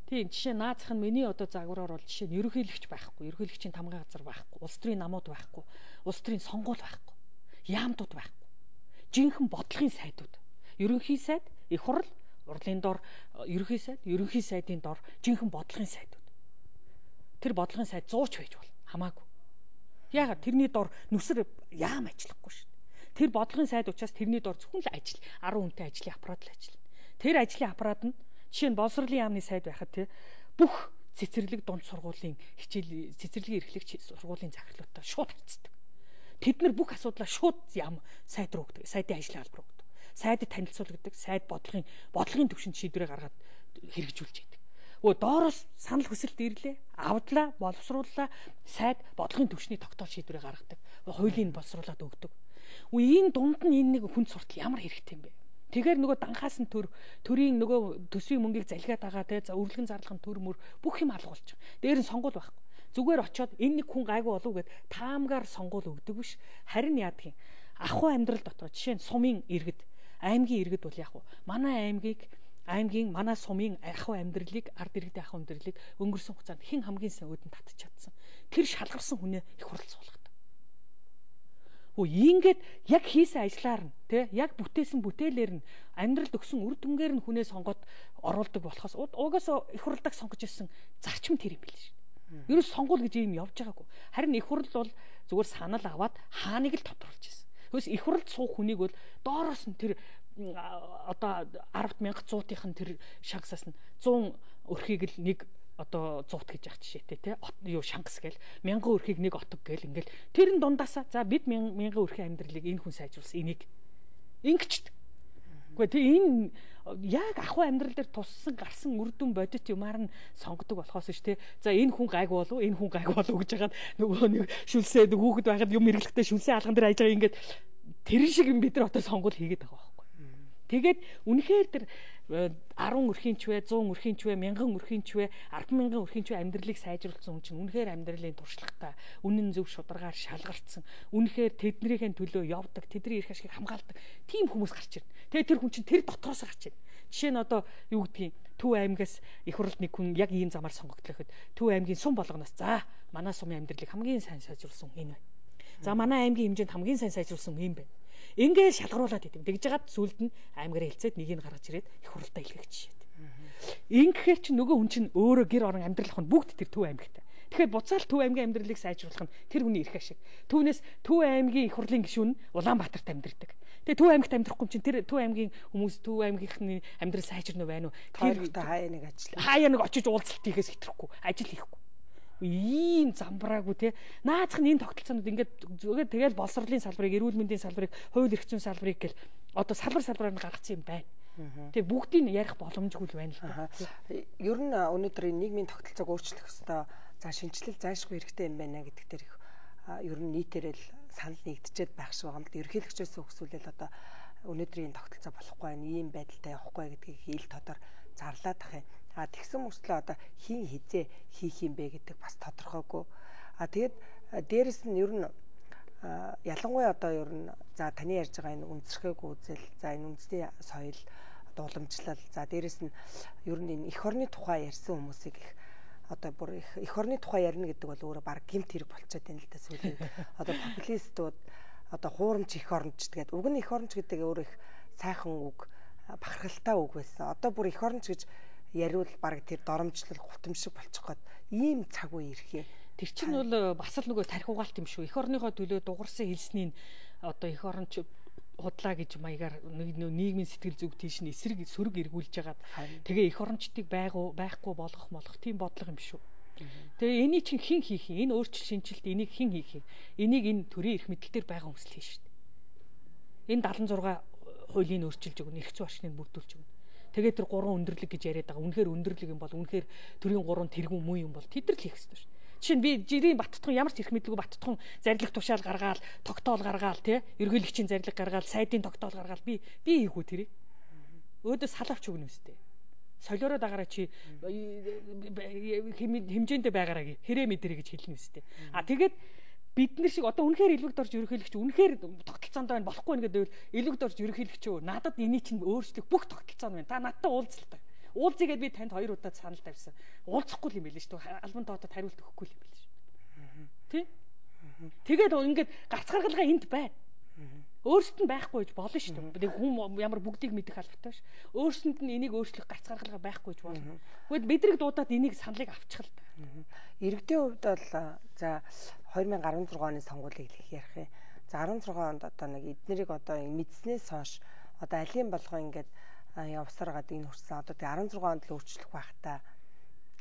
Тийм жишээ наазах нь миний одоо загвараар бол жишээ нь ерөнхийлөгч байхгүй, ерөнхийлөгчийн тамгын газар байхгүй, улс төрийн намууд байхгүй, улс төрийн сонгуул байхгүй, яамтууд байхгүй. Жинхэнэ бодлогын сайдууд. Ерөнхий сайд, их хурл, урлагийн дор ерөнхий сайд, ерөнхий сайдын дор жинхэнэ бодлогын сайдууд. Тэр бодлогын сайд зууч байж бол хамаагүй. Яагаад тэрний дор нүсэр яам ажиллахгүй шүү дээ. Тэр бодлогын сайд учраас тэрний дор зөвхөн л ажил, арван хүнтэй ажлын аппарат л ажиллана. Тэр ажлын аппарат нь жишээ нь боловсролын яамны сайд байхад тий бүх цэцэрлэг дунд сургуулийн хичээл цэцэрлэгийн эрхлэгч сургуулийн захирлуудтай шууд харьцдаг. Тэд нар бүх асуудлаа шууд яам сайд руу өгдөг, сайдын ажлын албар өгдөг. Сайдад танилцуулдаг, сайд бодлогын бодлогын төвшөнд шийдвэрээ гаргаад хэрэгжүүлж идэг. Өө доороос санал хүсэлт ирлээ, авдлаа, боловсрууллаа, сайд бодлогын төвшний тогтоол шийдвэрээ гаргадаг. Хуулийн боловсруулаад өгдөг. Үе энэ дунд нь энэ нэг хүн суртал ямар хэрэгтэй юм бэ? Тэгэхээр нөгөө данхаас нь төр төрийн нөгөө төсвийн мөнгийг залгиад байгаа те за өрлөгөн зарлах нь төр мөр бүх юм алга болж байгаа. Дээр нь сонгуул байхгүй. Зүгээр очиод энэ нэг хүн гайгүй болов гэд таамгаар сонгуул өгдөг биш. Харин яадгийн ахуй амьдрал дотор жишээ нь сумын иргэд, аймгийн иргэд бол яг уу манай аймгийг аймгийн манай сумын ахуй амьдралыг ард иргэдийн ахуй амьдралыг өнгөрсөн хугацаанд хэн хамгийн сайн өөдөнд татж чадсан. Тэр шалгарсан хүнээ их хурл суулгадаг. Өө ингээд яг хийсэн ажлаар нь тий яг бүтээсэн бүтээлээр нь амьдралд өгсөн үр дүнгээр нь хүнээ сонгоод оруулдаг болохоос угаасаа их хурлыг сонгож ирсэн зарчим тэр юм биш шүү. Ерөөс сонгуул гэж юм явж байгаагүй. Харин их хурл бол зүгээр санал аваад хааныг л тодруулж ирсэн. Хөөс их хурлд суух хүнийг бол доороос нь тэр одоо арвд мянга зуутынх нь тэр шагсаас нь зуун өрхийг л нэг одоо зуут гэж яах жишээтэй тий юу шангас гээл мянган өрхийг нэг отог гээл ингээл тэр нь дундаасаа за бид мянган өрхийн амьдралыг энэ хүн сайжруулсан энийг ингэчт. Гэхдээ тий энэ яг ахуй амьдрал дээр туссан гарсан үр дүн бодит юмар нь сонгодог болохоос ш тий за энэ хүн гайг болов энэ хүн гайг болов гэж хагаад нөгөө нэг шүлсээ хүүхэд байхад юм эргэлэхтэй шүлсээ алган дээр хайж байгаа ингээд тэр шиг юм бид нар одоо сонгуул хийгээд байгаа байхгүй. Тэгээд үнэхээр тэр арван өрхийн ч вэ, зуун өрхийн ч вэ, мянган өрхийн ч вэ, арван мянган өрхийн ч вэ амьдралыг сайжруулсан хүн чинь үнэхээр амьдралын туршлагатай, үнэн зөв шударгаар шалгарцсан, үнэхээр тэднийхэн төлөө явдаг, тэдний эрх ашгийг хамгаалдаг тийм хүмүүс гарч ирнэ. Тэгээд тэр хүн чинь тэр дотроос гарч ирнэ. Жишээ нь одоо юу гэдгийг Төв аймгаас их хурлд нэг хүн яг ийм замаар сонгогдлоо гэхэд Төв аймгийн сум болгоноос за манай сумын амьдралыг хамгийн сайн сайжруулсан энэ байна. За манай аймгийн хэмжээнд хамгийн сайн сайжруулсан юм байна. Ингээд шалгаруулад идэв. Тэгж жагаад сүлд нь аймгаараа хэлцээд нэгийг гаргаж ирээд их хуралдаа илгээх жишээ. Ингэхээр чи нөгөө хүн чинь өөрөө гэр орон амьдралах нь бүгд тэр Төв аймагтай. Тэгэхээр буцаал Төв аймгийн амьдралыг сайжруулах нь тэр хүний эрх ашиг. Түүнээс Төв аймгийн их хурлын гишүүн нь Улаанбаатарт амьдардаг. Тэгээ Төв аймагт амьдрахгүй чинь тэр Төв аймгийн хүмүүс Төв аймгийнхны амьдрал сайжирна вэ? Тэр хаяа нэг ажил. Хаяа нэг очиж уулзалт хийхээс хэтрэхгүй. Ажил хийхгүй. Ийм замбраагүй те наацх нь энэ тогтолцоонууд ингээд зүгээр тэгэл боловсролын салбарыг, эрүүл мэндийн салбарыг, хууль эрх зүйн салбарыг гэл одоо салбар салбараар нь гаргацсан юм байна. Тэгээ бүгдийг ярих боломжгүй л байна л да. Ер нь өнөөдөр нийгмийн тогтолцоог өөрчлөх ёстой. За шинжилэл зайлшгүй хэрэгтэй юм байна гэдэг дээр их ер нь нийтээрээ л санал нэгдэчихэд байх шиг байгаа юм л ерөнхийлөгчөөс өгсүүлэл одоо өнөөдрийн тогтолцоо болохгүй байх, ийм байдалтай явахгүй гэдгийг ил тодор зарлаад ах юм. А тэгсэн мөртлөө одоо хин хизээ хийх юм бэ гэдэг бас тодорхойгүй. А тэгээд дээрэс нь ер нь ялангуяа одоо ер нь за таны ярьж байгаа энэ үндэсрэх үзэл, за энэ үндэсний соёл, одоо уламжлал, за дээрэс нь ер нь энэ эх орны тухай ярьсан хүмүүсийг их одоо бүр их эх орны тухай ярина гэдэг бол өөрөө баг гэмт хэрэг болчиход байна л да сүүлийн. Одоо популистууд одоо хуурамч эх оронч тэгээд уг нь эх оронч гэдэг өөрөө их сайхан үг, бахархалтай үг байсан. Одоо бүр эх оронч гэж яриул баг тэр доромжлол гутамшиг болчих гээд ийм цаг үе ирэхээ. Тэр чинь бол бас л нөгөө тарих угаалт юм шүү. Эх орныхоо төлөө дугарсан хэлснийг одоо эх оронч худлаа гэж маягаар нийгмийн сэтгэл зүг тийш нь эсрэг сөрөг эргүүлж хагаад тэгээ эх орончдыг байгуу байхгүй болгох молох тийм бодлого юм шүү. Тэгээ энийг чинь хэн хийх юм? Энэ өөрчлөлт шинжилт энийг хэн хийх юм? Энийг энэ төрийн эрх мэдэлээр байгаа хүмүүс л хийн шүү дээ. Энэ дадлан зургаа хуулийг өөрчилж өгнө, эрх зүйн орчныг бүрдүүлж өгнө. Тэгээ тэр гурван өндөрлөг гэж яриад байгаа. Үнэхээр өндөрлөг юм бол үнэхээр төрийн гурван тэргүүн муу юм бол тэд нар л хийх ёстой шүү. Жишээ нь би жирийн Баттутхан ямар ч эрх мэдлгүй Баттутхан зарлиг тушаал гаргаал, тогтоол гаргаал тий ерөнхийлөгчийн зарлиг гаргаал, сайдын тогтоол гаргаал би би хийгүү тэрийг. Өөдөө салавч өгнө үстэй. Солиороо дагараа чи хэмжээндээ байгаараа хэрэг мэдрээ гэж хэлнэ үстэй. А тэгээд бид нар шиг одоо үнэхээр илвэгд орж ерөнхийлөгч үнэхээр тогтолцоонд байна болохгүй нэгэд байвал илвэгд орж ерөнхийлөгч өө надад энийг чинь өөрчлөх бүх тогтолцоо нь байна. Та надтай уулзалтай. Уулзъя гэдээ би танд хоёр удаа санал тавьсан. Уулзахгүй юм байл шүү дээ. Албан тоотод хариулт өгөхгүй юм байл шүү. Тий? Тэгээд ингээд гарц гаргалгаа энд байна. Өөрсдөд нь байхгүй гэж болно шүү дээ. Хүн ямар бүгдийг мэдэх албатай ш. Өөрсдөд нь энийг өөрчлөх гарц гаргалгаа байхгүй гэж болно. Гэхдээ бидрэг дуудаад энийг саналыг авчих л та. Иргэдийн хувьд бол за хоёр мянга арван зургаан оны сонгуулийг их ярих юм. За арван зургаан онд одоо нэг эднэрийг одоо мэдснээс хойш одоо алийн болгоо ингээд явсараад энэ хүрсэн. Одоо тэгээ арван зургаан онд л өөрчлөх байх та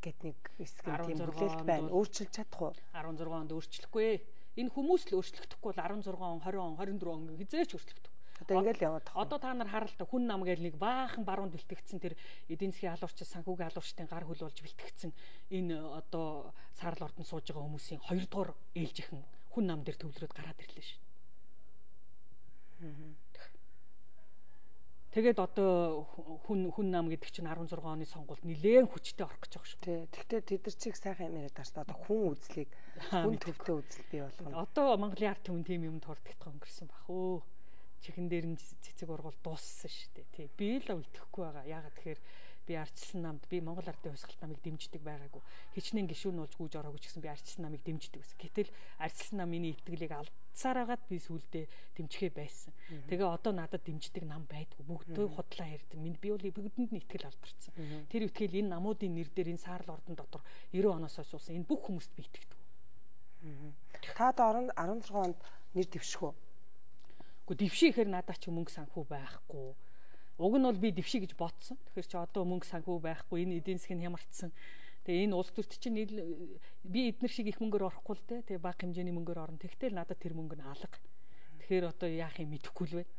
гэт нэг хэсэг тийм бүлээлт байна. Өөрчилж чадах уу? арван зургаан онд өөрчлөхгүй. Энэ хүмүүс л өөрчлөгдөхгүй бол арван зургаан он, двадцать он, двадцать четыре он хизээч өөрчлөгдөх. Одоо ингээл яваад тах. Одоо та нар харалтаа хүн нам гээл нэг баахан баруунд бэлтгэгдсэн тэр эдийн засгийн алуурч санхүүгийн алуурчдын гар хөл болж бэлтгэгдсэн энэ одоо саарл ордонд сууж байгаа хүмүүсийн хоёр дахь ээлжихэн хүн нам дээр төвлөрөөд гараад ирлээ шүү. Тэгээд одоо хүн хүн нам гэдэг чинь арван зургаан оны сонгуульд нэлээд хүчтэй орох гэж байгаа шүү. Тий. Тэгтээ тэд нар чиг сайхан юм яриад тааш. Одоо хүн үзлийг хүн төвтэй үзэл бий болгоно. Одоо Монголын ард түмэн тийм юм дурддагтай өнгөрсөн бах өө. Чихэн дээр нь цэцэг ургуул дууссан шүү дээ. Тий. Би л үлдэхгүй байгаа. Яагаад тэгэхээр би арчилсан намд би Монгол ардын хувьсгалт намыг дэмждэг байгаагүй. Хичнээн гишүүн болж гүйж ороогүй ч гэсэн би арчилсан намыг дэмждэг байсан. Гэтэл арчилсан нам миний итгэлийг алдсаар агаад би сүулдэ дэмжихээ байсан. Тэгээ одоо надад дэмждэг нам байдгүй. Бүгдөө худлаа ярьдаг. Минь би бол бүгдэнд нь итгэл алдарсан. Тэр итгэл энэ намуудын нэр дээр энэ саарл ордон дотор девяносто оноос хойш суусан энэ бүх хүмүүст би итгэдэг. Та одоо арван зургаан онд нэр дэвших үү? Гэхдээ дэвших ихээр надад ч мөнгө санхүү байхгүй. Уг нь бол би дэвших гэж бодсон. Тэгэхээр чи одоо мөнгө санхүү байхгүй, энэ эдийн засгийн хямарцсан. Тэгээ энэ улс төрт чинь би эднэр шиг их мөнгөөр орохгүй л дээ. Тэгээ бага хэмжээний мөнгөөр орно. Тэгтэл надад тэр мөнгө нь алга. Тэгэхээр одоо яах юм мэдэхгүй л байна.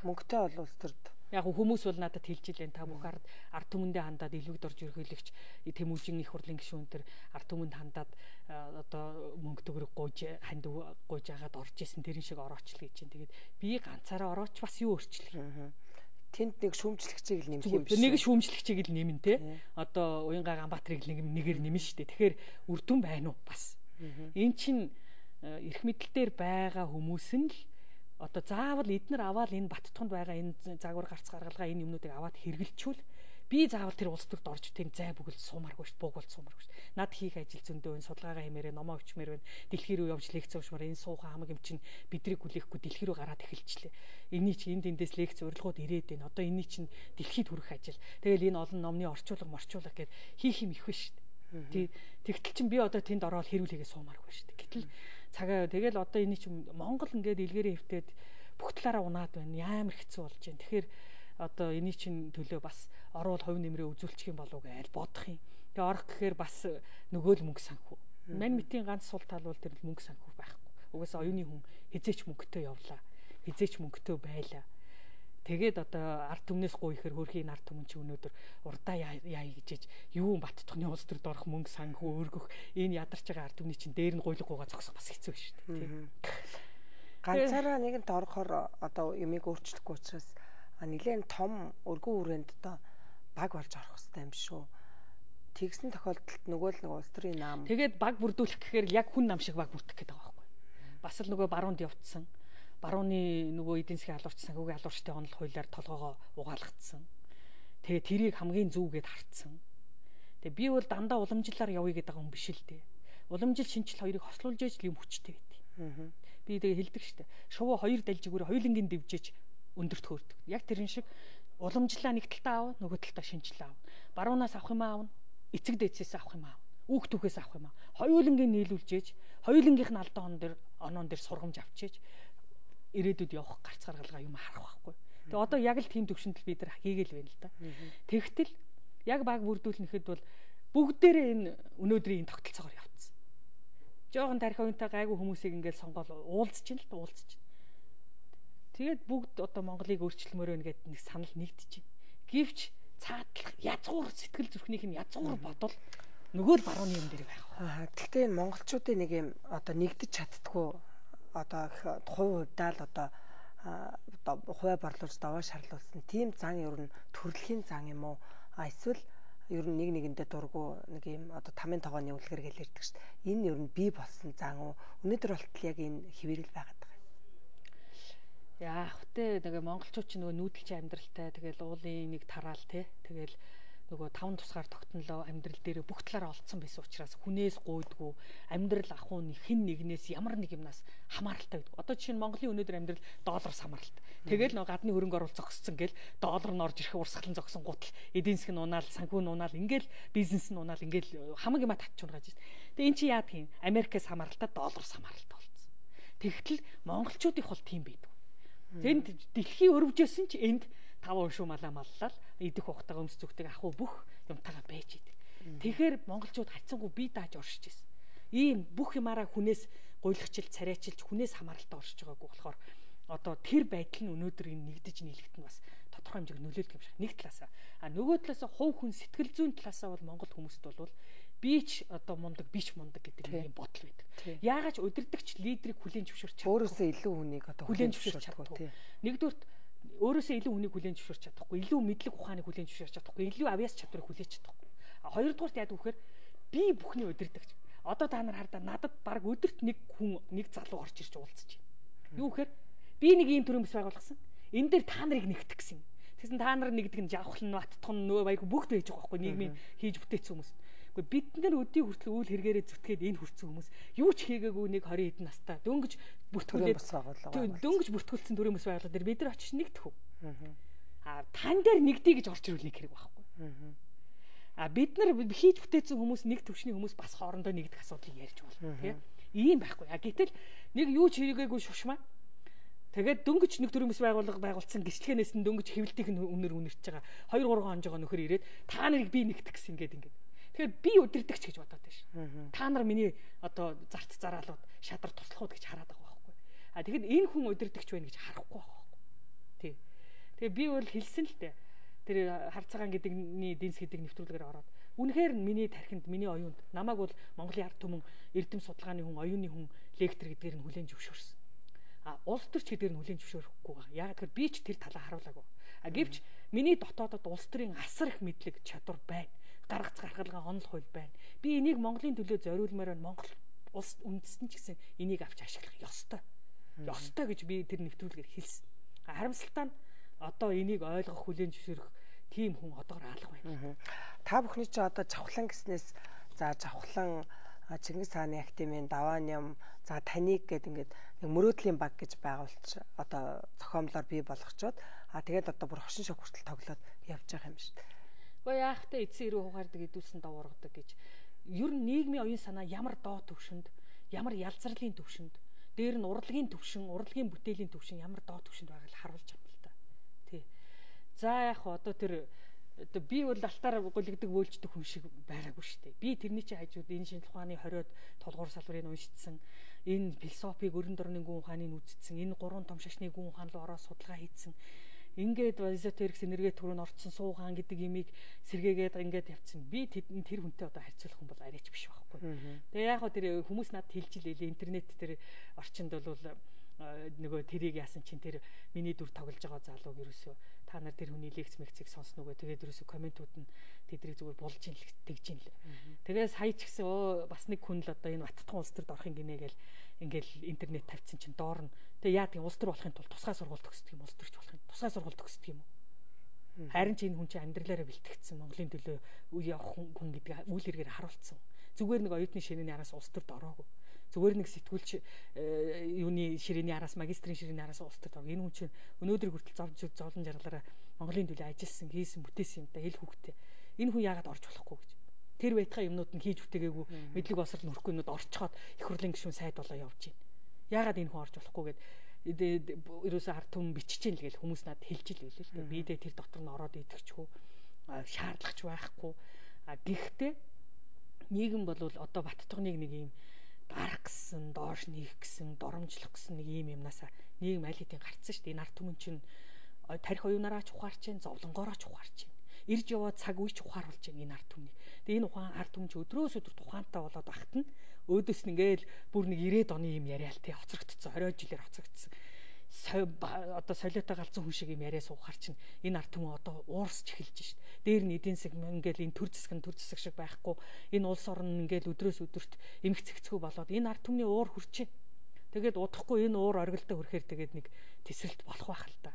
Мөнгөтэй бол улс төрт. Яг хүмүүс бол надад хэлж илэн та бүх ард ард түмэндээ хандаад илвэгд орж ерөөлөгч Тэмүүжин их хурлын гишүүн төр ард түмэнд хандаад одоо мөнгө төгрөг гуйж ханд гуйж агаад орж исэн тэрэн шиг орооч л гэж чинь. Тэгээд би ганцаараа орооч бас юу өөрчлөх юм. Тэнд нэг шүүмжлэгчийг л нэмэх юм биш. Нэг шүүмжлэгчийг л нэмэн те. Одоо Уянгаа Ганбаатарыг нэг нэгээр нэмэн штэ. Тэгэхээр үр дүн байна уу бас. Эн чин эрх мэдэл дээр байгаа хүмүүс нь л одоо заавал эднэр аваад энэ Баттутганд байгаа энэ загвар гарц гаргалгаа энэ юмнуудыг аваад хэрэгэлчүүл би заавал тэр улс төрд орж тийм зай бүгэл суумааргүй шүү, буугуул суумааргүй шүү. Над хийх ажил зөндөө энэ судалгаагаа хэмээрээ номоо өчмөр байна. Дэлхий рүү явж лекц уушмаар энэ суухан хамаг юм чинь бидрийг хүлээхгүй дэлхий рүү гараад эхэлчлээ. Эний чинь энд эндээс лекц урилгууд ирээд байна. Одоо эний чинь дэлхийд хүрэх ажил. Тэгэл энэ олон номны орчуулга морчуулга гэд хийх юм их биш шүү. Тий тэгтэл чинь би одоо тэнд ороод хэрүүл хийгээ суумааргүй шүү. Гэтэл цагаа тэгэл одоо эний чинь Монгол ингээд илгээрээ хөвтөд бүх талаараа унаад байна. Амар хэцүү болж байна. Тэгэхээр одоо эний чинь төлөө бас орвол хувь нэмрээ үзүүлчих юм болов уу гэж бодох юм. Тэгээ орох гэхээр бас нөгөө л мөнгө санхүү. Мань мэтийн ганц сул тал бол тэр мөнгө санхүү байхгүй. Угаасаа оюуны хүн хизээч мөнгөтэй явлаа. Хизээч мөнгөтэй байлаа. Тэгээд одоо ард түмнээс гуй ихээр хөрхийн ард түмэн чи өнөөдөр урдаа яа гэж юу Баттутганы улс төрд орох мөнгө санхүү өргөх энэ ядарч байгаа ард түмний чинь дээр нь гуйлгуугаа зогсох бас хэцүү шүү дээ. Ганцаараа нэгэнт орохоор одоо юмыг өөрчлөхгүй учраас нэлээд том өргөн хүрээнд одоо баг болж орох хэрэгтэй юм шүү. тэгсэн тохиолдолд нөгөө л нэг улс төрийн наам. Тэгээд баг бүрдүүлэх гэхээр яг хүн нам шиг баг бүрдэх гэдэг байгаа байхгүй. Бас л нөгөө баруунд явцсан. Барууны нөгөө эдийн засгийн алуурч санхүүгийн алуурчтай онол хуулиар толгоогоо угаалгацсан. Тэгээ тэрийг хамгийн зүвгээд хартсан. Тэгээ би бол дандаа уламжлалаар явъя гэдэг юм биш л дээ. Уламжил шинжил хоёрыг хослуулж ээж юм хүчтэй байдаг. Аа. Би тэгээ хэлдэг штэ. Шувуу хоёр далжигүүр хоёулангийн дэвжиж өндөрт хөөрдөг. Яг тэрэн шиг уламжлалаа нэг талтаа аав, нөгөө талтаа шинжил аав. Баруунаас авах юм аав, эцэг дээдсээс авах юм аав. Үүх түүхээс авах юм аав. Хоёулангийн нийлүүлж ээж, хоёулангийнх нь алдаан он дээр оноон дээр сургамж авчиж ирээдүйд явах гарц гаргалгаа юм харах байхгүй. Тэгээ одоо яг л тийм төвшөнд бид нар хийгээл байна л да. Тэгтэл яг баг бүрдүүлнэхэд бол бүгдээрээ энэ өнөөдрийн энэ тогтолцоогоор явцсан. Жохон тарих уянтай гайгүй хүмүүсийг ингээд сонгоол уулзч ин л уулзч. Тэгээд бүгд одоо Монголыг өөрчлөмөр байна гэдэг нэг санал нэгдэж байна. Гэвч цаатлах язгуур сэтгэл зүрхнийх нь язгуур бодол нөгөө л барууны юм дээр байх. Аа гэхдээ энэ монголчуудын нэг юм одоо нэгдэж чаддгүй одоо хувь хувьдаа л одоо одоо хувиа борлуулж даваа шарлуулсан тийм зан ер нь төрөлхийн зан юм уу? А эсвэл ер нь нэг нэгэндээ дургу нэг юм одоо тамийн тогооны үлгэр гэж ярьдаг шүү дээ. Энэ ер нь бий болсон зан уу? Өнөөдөр болтол яг энэ хэвээрэл байгаад байгаа. Яах вэ? Тэгээ монголчууд ч нөгөө нүүдэлчин амьдралтай тэгэл уулын нэг тараал те. Тэгэл нөгөө таван тусгаар тогтнолоо амьдрал дээр бүх талаараа олцсон байсан учраас хүнээс гуйдгүй амьдрал ахуй хэн нэгнээс ямар нэг юмнаас хамааралтай байдаг. Одоо жишээ нь Монголын өнөөдөр амьдрал доллараас хамааралтай. Тэгэл нөгөө гадны хөрөнгө оруулалт зогссон гэл доллар нь орж ирэх урсгалан зогсон гутал эдийн засгийн унаал санхүү нь унаал ингээл бизнес нь унаал ингээл хамаг юма татчихуургаж байна. Тэгээ эн чи яа тийм Америкээс хамааралтай доллараас хамааралтай болсон. Тэгтэл монголчуудын хол тийм байдаг. Тэнд дэлхийн өрөвжөөсөн ч энд таван шүү малаа маллал идэх ухтаа өмс зүгтэг ахуу бүх юмтайгаа байж идэг. Тэгэхээр монголчууд хайцсангүй бие дааж оршиж ирсэн. Ийм бүх юмараа хүнээс гуйлагчил царайчилж хүнээс хамааралтай оршиж байгаагүй болохоор одоо тэр байдал нь өнөөдөр энэ нэгдэж нийлэгт нь бас тодорхой хэмжээг нөлөөлдөг юм шиг. Нэг талаасаа а нөгөө талаасаа хувь хүн сэтгэл зүйн талаасаа бол монгол хүмүүст бол бич одоо мундаг бич мундаг гэдэг нэг юм бодол байдаг. Яагаад ч удирдахч лидерийг хүлээн зөвшөөрч чадахгүй. Өөрөөсөө илүү хүнийг одоо хүлээн зөвшөөрч чадахгүй. Нэгдүгээр өөрөөсөө илүү хүнийг хүлээн зөвшөөрч чадахгүй, илүү мэдлэг ухааныг хүлээн зөвшөөрч чадахгүй, илүү авьяас чадварыг хүлээж чадахгүй. А хоёрдугаарт яадаг вэхээр би бүхний удирдахч. Одоо та нар хардаа надад баг өдөрт нэг хүн нэг залуу орж ирж уулзчих. Юу гэхээр би нэг ийм төрөмс байгуулсан. Энэ дээр та нарыг нэгтгэх гэсэн. Тэгсэн та нар нэгдэг нь жавхлан баттхан нөө баяг бүгд байж байгаа байхгүй нийгмийн хийж бүтээсэн хүмүүс. Гэхдээ бид нар өдний хүртэл үйл хэрэгээрээ зүтгээд энэ хүрсэн хүмүүс юу ч хийгээгүй нэг двадцать хэдэн настай дөнгөж бүртгүүлээд дөнгөж бүртгүүлсэн төрөмс байгууллага дээр бид нар очиж нэгдэх үү. Аа тань дээр нэгдэе гэж орч ирүүлнэ хэрэг байхгүй. А бид нар хийж бүтээсэн хүмүүс нэг төвшний хүмүүс бас хоорондоо нэгдэх асуудлыг ярьж болно тийм. Ийм байхгүй. А гэтэл нэг юу ч хийгээгүй шушмаа. Тэгээд дөнгөж нэг төрөмс байгууллага байгуулсан гिचлэхэнээс нь дөнгөж хэвлэлтийн үнээр үнэрч байгаа. хоёр гурван онжоо нөхөр ирээд та нарыг би нэгтгэх гэсэн ингээд ингээд. Тэгэхээр би удирдахч гэж бодоод байна ш. Та нар миний одоо зарц зараалууд шадар туслахууд гэж хараад байгаа байхгүй. А тэгэхэд энэ хүн удирдахч байна гэж харахгүй байгаа байхгүй. Тий. Тэгээ би бол хэлсэн л дээ. Тэр харцаагаан гэдэгний эдийн засгийн нэвтрүүлгээр ороод үнэхээр миний тархинд миний оюунд намайг бол Монголын ард түмэн эрдэм судалгааны хүн оюуны хүн лектор гэдгээр нь хүлээн зөвшөөрсөн. А улс төрч гэдгээр нь хүлээн зөвшөөрөхгүй байгаа. Яг тэгэхээр би ч тэр талаа харуулаагүй. А гэвч миний дотоодод улс төрийн асар их мэдлэг чадвар байна. Гаргац гаргалгаа онол хууль байна. Би энийг Монголын төлөө зориулмаар байна. Монгол улс үндэстэн ч гэсэн энийг авч ашиглах ёстой. Ёстой гэж би тэр нэвтрүүлгээр хэлсэн. Харамсалтай нь одоо энийг ойлгох хүлээн зөвшөөрөх тийм хүн одоогор алга байна. Та бүхний чи одоо Жавхлан гэснээс за Жавхлан Чингис хааны академийн даваан юм за таныг гэдэг ингээд нэг мөрөөдлийн баг гэж байгуулж одоо зохиомлоор бий болгочоод а тэгээд одоо бүр хошин шог хүртэл тоглоод явж байгаа юм шүү дээ. Гэхдээ яахтай эцсийн ирүү хугаардаг идүүлсэн дав ургадаг гэж ер нь нийгмийн оюун санаа ямар доо төвшөнд ямар ялзарлын төвшөнд дээр нь урлагийн төвшин урлагийн бүтээлийн төвшин ямар доо төвшөнд байгааг харуулж байгаа юм л да. Тий. За яг одоо тэр одоо би бол алтаар гулгдаг вөөлждөг хүн шиг байгаагүй шүү дээ. Би тэрний чинь хажууд энэ шинжлэх ухааны хориод тулгуур салбарыг уншицсан, энэ философиг өрн дорны гүн ухааныг үзсэн, энэ гурван том шашны гүн ухаан руу ороод судалгаа хийсэн. Ингээд эзотерикс энерги төрөнд орцсон суугаан гэдэг имийг сэргээгээд ингээд явцсан. Би тэр хүнтэй одоо харьцуулах хүн бол арайч биш байхгүй. Тэгээ яг хоо тэр хүмүүс надад хэлж илээ интернет тэр орчинд бол нөгөө тэрийг яасан чинь тэр миний дүр тоглож байгаа залууг ерөөсөө та нар тэр хүний лекц мэгцийг сонсно үгүй. Тэгээд ерөөсө комментууд нь тэдрийг зүгээр булж ин л тэгж ин л. Тэгээд сая ч гэсэн өө бас нэг хүн л одоо энэ Баттхан улс төрд орохын гинэ гээл ингээл интернет тавьчихсан чинь доор нь тэгээд яа тийм улс төр болохын тулд тусгай сургууль төгсдөг юм, улс төрч болохын тусгай сургууль төгсдөг юм уу? Харин ч энэ хүн чинь амьдралаараа бэлтгэгдсэн Монголын төлөө үе явах хүн гэдэг үйл хэрэгээр харуулсан. Зүгээр нэг оюутны ширээний араас улс төрд ороогүй. Зүгээр нэг сэтгүүлч юуны ширээний араас магистрийн ширээний араас улс төрд ороо. Энэ хүн чинь өнөөдөр хүртэл зовж зовлон жаргалаараа Монголын төлөө ажилласан, хийсэн, бүтээсэн юм да эл хүүхдээ. Энэ хүн яагаад орж болохгүй гэж. Тэр байтхаа юмнууд нь хийж бүтээгээгүй мэдлэг босрол нөрөхгүй юмнууд орчхоод их хурлын гишүүн сайд болоо явж байна. Яагаад энэ хүн орж болохгүй гэд ерөөсөө ард түмэн бичиж ийн л гэж хүмүүс надад хэлж ил байлээ л дээ. Би дэ тэр дотор нь ороод идэгчгүй шаардлагач байхгүй. А гэхдээ нийгэм бол одоо Баттухныг нэг юм гарах гэсэн, доош нээх гэсэн, доромжлох гэсэн нэг юм юмнасаа нийгэм аль хэдийн гарцсан шүү дээ. Энэ ард түмэн чинь тарих оюунаараа ч ухаарч जैन, зовлонгоороо ч ухаарч जैन. Ирж яваа цаг үе ч ухааруулж जैन энэ ард түмнийг. Тэгээ энэ ухаан ард түмэн ч өдрөөс өдөр тухаантай болоод багт нь өөдөөс нь ингээл бүр нэг ирээд оны юм яриа л тий хоцрогдсон, орой жилээр хоцрогдсон. Одоо солиотой галзуу хүн шиг юм яриа суухаар чинь энэ ард түмэн одоо уурсч эхэлж шít. Дээр нь эдийн засаг ингээл энэ төр засаг төр засаг шиг байхгүй. Энэ улс орн ингээл өдрөөс өдөрт эмх цэгцгүй болоод энэ ард түмний уур хүрчээ. Тэгээд удахгүй энэ уур оргилдоо хүрэхээр тэгээд нэг тесрэлт болох байх л та.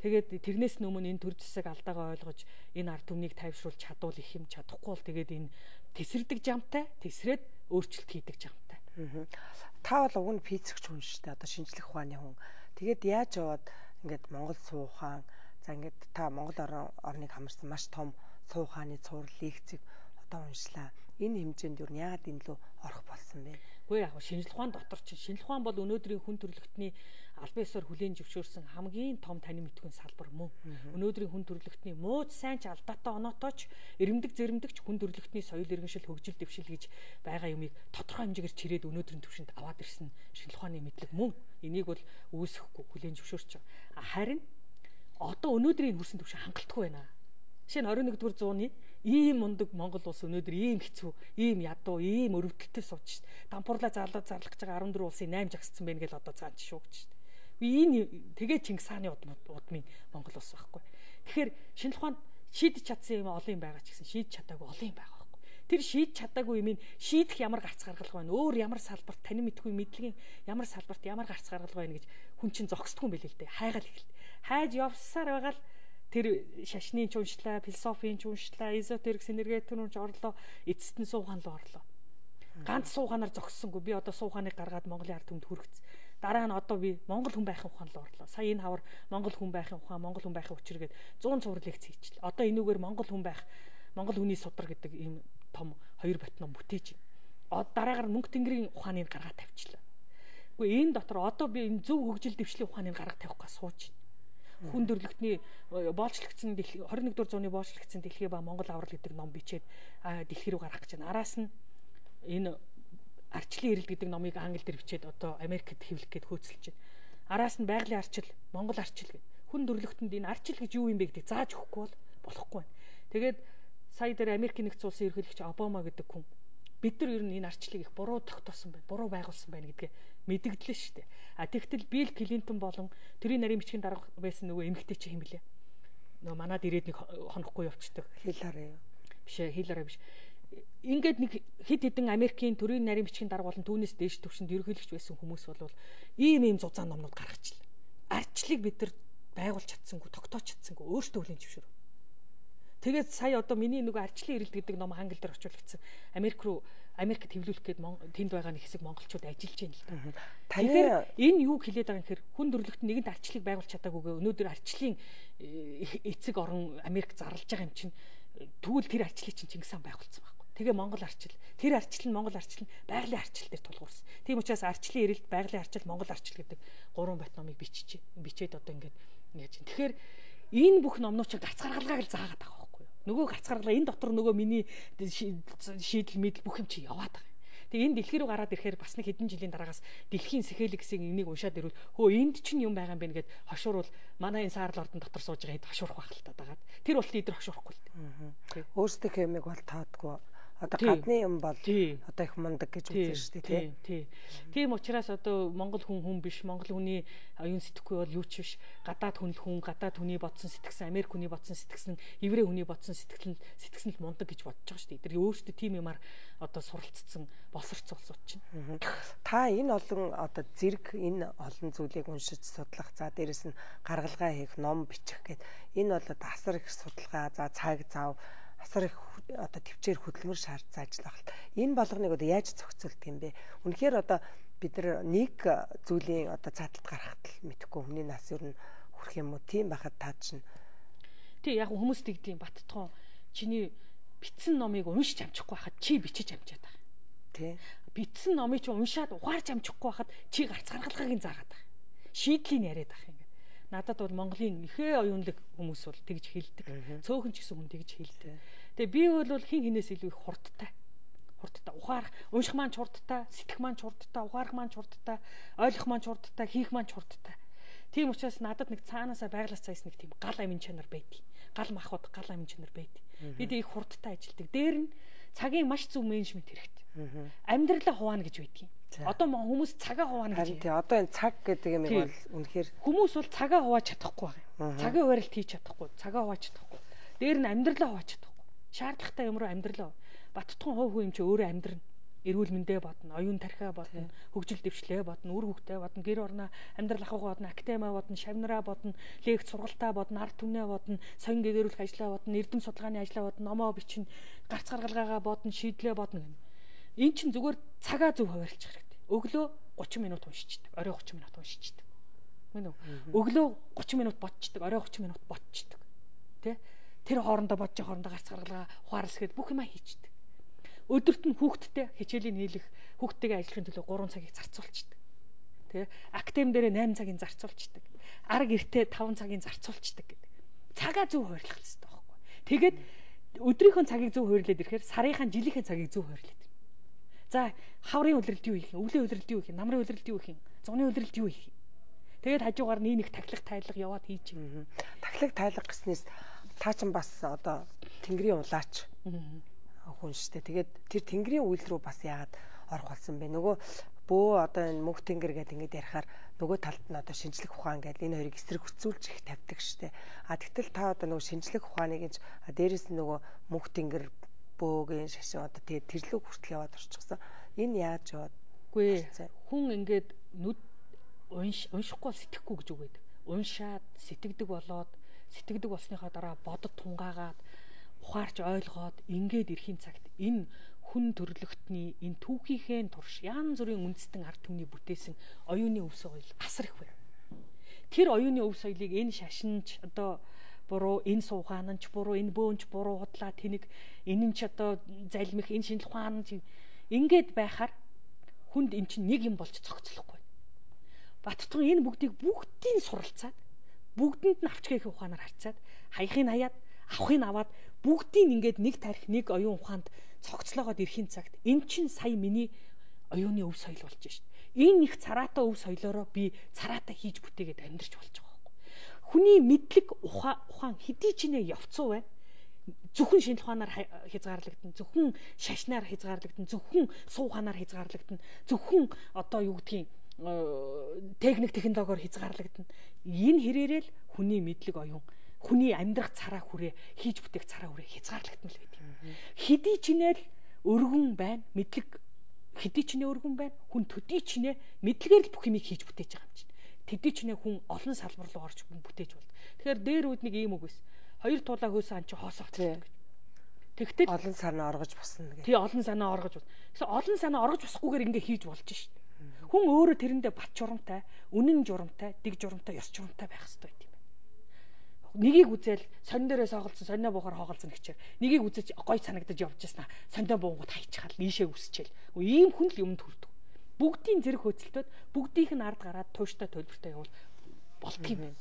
Тэгээд тэрнээс өмнө энэ төр засаг алдаагаа ойлгож энэ ард түмнийг тайвшруулж чадвал их юм, чадахгүй бол тэгээд энэ тесрдэг жамтай, тесрээд өөрчлөлт хийдэг жамтай. Та бол уг нь физикч хүн шүү дээ. Одоо шинжлэх ухааны хүн. Тэгээд яаж яваад ингээд Монгол суу ухаан, за ингээд та Монгол орныг хамарсан маш том суу ухааны цуврал лекцийг одоо уншлаа. Энэ хэмжээнд юу яагаад энэ лөө орох болсон бэ? Үгүй яг шинжлэх ухаан дотор чинь шинжлэх ухаан бол өнөөдрийн хүн төрөлхтний албан ёсоор хүлээн зөвшөөрсөн хамгийн том танин мэдхүйн салбар мөн. Өнөөдрийн хүн төрөлхтний мууч сайн ч алдаатай оноотойч эрэмдэг зэрэмдэгч хүн төрөлхтний соёл иргэншил хөгжил дэвшил гэж байгаа юмыг тодорхой хэмжээгээр чирээд өнөөдрийн түвшинд аваад ирсэн шинжлэх ухааны мэдлэг мөн. Энийг бол үүсэхгүй хүлээн зөвшөөрч байгаа. Харин одоо өнөөдрийн хүрсэн түвшин хангалтгүй байна. Жишээ нь орой нэгдүгээр зууны ийм мундаг Монгол улс өнөөдөр ийм хэцүү, ийм ядуу, ийм өрөвдөлтөд сууж шít. Дампуурлаа зарлаад зарлах гэж байгаа арван дөрвөн улсын наймж агсцсан байна гэж одоо цаан жишүүгч шít. Энэ тэгээ Чингис хааны удмын Монгол улс байхгүй. Тэгэхээр шинжлэх ухаанд шийдэж чадсан юм олон юм байгаа ч гэсэн шийдэж чадаагүй олон юм байгаа байхгүй. Тэр шийдэж чадаагүй юм ин шийдэх ямар гарц гаргалгаа байна. Өөр ямар салбарт танин мэдгүй мэдлэгийн ямар салбарт ямар гарц гаргалгаа байна гэж хүн чинь зогсдгүй юм билээ л дээ. Хайгаал ихэлт. Хайж явсаар байгаа л тэр шашны ч уншлаа, философийн ч уншлаа, эзотерик, энергетикийн ч орлоо, эцэст нь суугаан руу орлоо. Ганц суугаанаар зогссонгүй. Би одоо суугааныг гаргаад Монголын ард түмэнд хүргэсэн. Дараа нь одоо би Монгол хүн байхын ухаан руу орлоо. Сая энэ хавар Монгол хүн байхын ухаан, Монгол хүн байхын учир гээд зуун цуврал лекц хийчихлээ. Одоо энүүгээр Монгол хүн байх, Монгол хүний судар гэдэг ийм том хоёр бот ном бүтээж байна. Дараагаар мөнгө тэнгэрийн ухааныг гаргаад тавьчихлаа. Гэхдээ энэ дотор одоо би энэ зөв хөгжил дэвшлийн ухааныг гаргаад тавих гэж сууж байна. Хүн төрөлхтний боолчлогдсон хорин нэгдүгээр зууны боолчлогдсон дэлхий ба Монгол аврал гэдэг ном бичээд дэлхий рүү гаргах гэж байна. Араас нь энэ арчлын эрэлт гэдэг номыг англи дээр бичээд одоо Америкт хэвлэх гээд хөөцөлж байна. Араас нь байгалийн арчил, Монгол арчил гэдэг. Хүн төрөлхтөнд энэ арчил гэж юу юм бэ гэдэг зааж өгөхгүй бол болохгүй байна. Тэгээд сая дээр Америкийн нэгдсэн улсын ерөнхийлөгч Обама гэдэг хүн бид нар ер нь энэ арчлыг их буруу тогтоосон байна, буруу байгуулсан байна гэдгээ мэдэгдлээ шүү дээ. А тэгтэл Билл Клинтон болон төрийн нарийн бичгийн дарга байсан нөгөө эмэгтэй чи хэм блэ? Нөгөө манад ирээд нэг хонохгүй явцдаг. Хиллари юу? Биш ээ, Хиллари биш. Ингээд нэг хэд хэдэн Америкийн төрийн нарийн бичгийн дарга болон түүнээс дээш төвшөнд ерөнхийлөгч байсан хүмүүс бол ийм ийм зузаан номнууд гаргачихлаа. Арчлыг бид нар байгуулж чадсангүй, тогтоож чадсангүй, өөртөө хүлээн зөвшөөрөв. Тэгээд сая одоо миний нөгөө арчлын эрэлт гэдэг ном англи дээр орчуулагдсан. Америк руу Америкт хэвлүүлэх гээд тэнд байгаа нэг хэсэг монголчууд ажиллаж байна л да. Тэгэхээр энэ юу хэлээд байгаа юм гэхээр хүн төрөлхтөн нэгэнт арчлыг байгуулж чадаагүйгээ өнөөдөр арчлын эцэг орон Америк зарлж байгаа юм чинь тэгвэл тэр арчлыг чинь Чингис хаан байгуулсан байхгүй. Тэгээ Монгол арчил. Тэр арчил нь Монгол арчил нь байгалийн арчил дээр тулгуурсан. Тийм учраас арчлын эрэлт, байгалийн арчил, Монгол арчил гэдэг гурван бат номыг бичиж бичээд одоо ингээд яаж юм. Тэгэхээр энэ бүх номнууд чинь гарц гаргалгааг л заагаад байгаа. Нөгөө гарц гаргалгаа энэ дотор нөгөө миний шийдэл мэдэл бүх юм чи яваад байгаа. Тэгээ энэ дэлхий рүү гараад ирэхээр бас нэг хэдэн жилийн дараагаас дэлхийн сэхэлэг гэсэн энийг уншаад ирвэл хөө энд чинь юм байгаа юм бэ гэд хошуурвал манай энэ саарл ордон дотор сууж байгаа хэд хошуурах байх л та дагаад. Тэр болт идэр хошуурахгүй л дээ. Өөрсдийнхөө юмыг бол таадгүй. Одоо гадны юм бол одоо их мундаг гэж үзэн шүү дээ тий. Тийм учраас одоо Монгол хүн хүн биш, Монгол хүний оюун сэтгэхгүй бол юу ч биш. Гадаад хүн л хүн, гадаад хүний бодсон сэтгсэн, Америк хүний бодсон сэтгсэн, еврей хүний бодсон сэтгсэн сэтгсэн л мундаг гэж бодож байгаа шүү дээ. Тэр өөрсдөө тийм юмар одоо суралцсан босорч улсууд чинь. Та энэ олон одоо зэрэг энэ олон зүйлийг уншиж судлах, за дээрэс нь гаргалгаа хийх, ном бичих гэд энэ бол одоо асар их судалгаа, за цаг зав, асар их одоо төвчээр хөдөлмөр шаардсан ажил багт. Энэ болгоныг одоо яаж зохицуулдаг юм бэ? Үнэхээр одоо бид нар нэг зүйлийн одоо цааталт гаргахад л мэдэхгүй хүний нас ер нь хүрх юм уу? Тийм байхад таа чинь. Тий, яг хүмүүс тэгдэм Баттхон чиний бичсэн номыг уншиж амжихгүй байхад чи бичиж амжаад байгаа. Тий. Бичсэн номыг чи уншаад ухаарч амжихгүй байхад чи гарц гаргалгаагийн заагаад байгаа. Шийдлийг яриад байгаа юм. Надад бол Монголын ихээ оюунлаг хүмүүс бол тэгж хэлдэг. Цөөхөн ч гэсэн хүн тэгж хэлдэг. Тэгээ би бол хин хинээс илүү их хурдтай. Хурдтай ухаарах, унших маань хурдтай, сэтгэх маань хурдтай, ухаарах маань хурдтай, ойлгох маань хурдтай, хийх маань хурдтай. Тийм учраас надад нэг цаанаасаа байглас цайс нэг тийм гал амин чанар байдаг. Гал махбод гал амин чанар байдаг. Бид их хурдтай ажилдаг. Дээр нь цагийн маш зөв менежмент хэрэгтэй. Амьдралаа хуваана гэж байдгийг. Одоо хүмүүс цагаа хуваана гэж. Тий, одоо энэ цаг гэдэг юм бол үнэхээр хүмүүс бол цагаа хувааж чадахгүй байгаа. Цагийн хуурилт хийж чадахгүй, цагаа хувааж чадахгүй. Дээр нь амьдралаа хувааж чадахгүй. Шаардлагатай юм руу амьдралаа. Баттхан хов хөө юм чи өөрөө амьдрна. Эрүүл мэндэ бодно, оюун тархиа бодно, хөгжил дэвшлээ бодно, үр хөвгтэй бодно, гэр орноо амьдрал ахуйгаа бодно, академи бодно, шавнараа бодно, лекц сургалтаа бодно, ард түмнээ бодно, соён гэгэрүүлэх ажлаа бодно, эрдэм судалгааны ажлаа бодно, номоо бичнэ, гарц гаргалгаагаа бодно, шийдлээ бодно гэнэ. Эн чин зүгээр цагаа зөв хуваарлчих хэрэгтэй. Өглөө гучин минут уншичдаг, орой гучин минут уншичдаг. Мөн үү? Өглөө гучин минут бодчихдаг, орой гучин минут бодчихдаг. Тэ? Тэр хоорондоо бодож хоорондоо гарц гаргалгаа ухаарлсгээд бүх юма хийчдэг. Өдөрт нь хүүхдтэй хичээлийн хийлэх, хүүхдтэйгээ ажиллахын төлөө гурван цагийг зарцуулчихдаг. Тэ? Актем дээрээ найман цагийн зарцуулчихдаг. Арга эртээ таван цагийн зарцуулчихдаг гэдэг. Цагаа зөв хуваарлах хэрэгтэй байхгүй. Тэгээд өдрийнхөө цагийг зөв хуваарлаад ирэхээр сарынхаа жилийнхээ цагийг зөв хуваарлаад. За хаврын үлрэлт юу хийх юм? Өвлийн үлрэлт юу хийх юм? Намрын үлрэлт юу хийх юм? Зуны үлрэлт юу хийх юм? Тэгээд хажуугаар нэг нэг тахилах тайлга яваад хийж юм. Тахилах тайлга гэснээс та ч бас одоо тэнгэрийн улаач хүн штэ. Тэгээд тэр тэнгэрийн үйл рүү бас яагаад орох болсон бэ? Нөгөө бөө одоо энэ мөнх тэнгэр гэдэг ингэж ярихаар нөгөө талд нь одоо шинжлэх ухаан гэдэг энэ хоёрыг эсрэг хүчүүлж их тавьдаг штэ. А тэгтэл та одоо нөгөө шинжлэх ухааныг гэж дээрэс нь нөгөө мөнх тэнгэр бөөгийн шашин одоо тэгээд тэрлэг хүртэл яваад орчихсон. Энэ яаж яваад? Үгүй хүн ингээд нүд унш уншихгүй сэтгэхгүй гэж үгээд. Уншаад сэтгэдэг болоод сэтгэдэг болсныхаа дараа бодод тунгаагаад ухаарч ойлгоод ингээд ирэхийн цагт энэ хүн төрлөختний энэ түүхийнхээ турш янз бүрийн үндэстэн ард түмний бүтээсэн оюуны өв соёл асар их байна. Тэр оюуны өв соёлыг энэ шашинч одоо буруу, энэ суугаанч буруу, энэ бөөнч буруу худлаа тэнэг, энэ ч одоо залмих, энэ шинжлэх ухаан ингээд байхаар хүнд эн чинь нэг юм болж цогцлохгүй. Баттхан энэ бүгдийг бүгдийг суралцаад бүгдэнд нь авч гээх ухаанаар харьцаад хаяхыг хаяад авахыг аваад бүгдийг ингээд нэг тарих нэг оюун ухаанд цогцлоогоод ирэхийн цагт эн чинь сая миний оюуны өв соёл болж шít. Энэ их цараатай өв соёлоороо би цараатай хийж бүтээгээд амьдарч болж байгаа байхгүй. Хүний мэдлэг ухаан хэдий ч нэ явцуу байна. Зөвхөн шинжлэх ухаанаар хязгаарлагдана, зөвхөн шашнаар хязгаарлагдана, зөвхөн суу ухаанаар хязгаарлагдана, зөвхөн одоо юу гэдгийг техник технологиор хязгаарлагдана. Энэ хэрээрээ л хүний мэдлэг оюун, хүний амьдрах цараа хүрээ, хийж бүтээх цараа хүрээ хязгаарлагдмал байдаг. Хэдий ч нэ л өргөн байна, мэдлэг хэдий ч нэ өргөн байна, хүн төдий ч нэ мэдлэгээр л бүх юмыг хийж бүтээж байгаа юм чинь. Тэдий ч нэ хүн олон салбар руу орж бүтээж болд. Тэгэхээр дээр үүд нэг ийм үг байсан. Хоёр туулаа хөөсөн ан чи хоосоо цогцдог. Тэгтэл олон санаа оргож босно гэх. Тий, олон санаа оргож бос. Гэсэн олон санаа оргож босхгүйгээр ингээ хийж болж шít. Хүн өөрөө тэрэндээ бат журамтай, үнэн журамтай, дэг журамтай, ёс журамтай байх хэрэгтэй юм байна. Нэгийг үзэл сонин дээрээ сооголцсон, сонио буухаар хооголцсон гэчээр нэгийг үзэж гой санагдаж явж яснаа. Сонио буунгууд хайчихал, нийшээ үсчээл. Ийм хүн л юмд хүрдэг. Бүгдийн зэрэг хөөцөлтөд бүгдийнх нь ард гараад тууштай төлбөртэй явал болдгийм.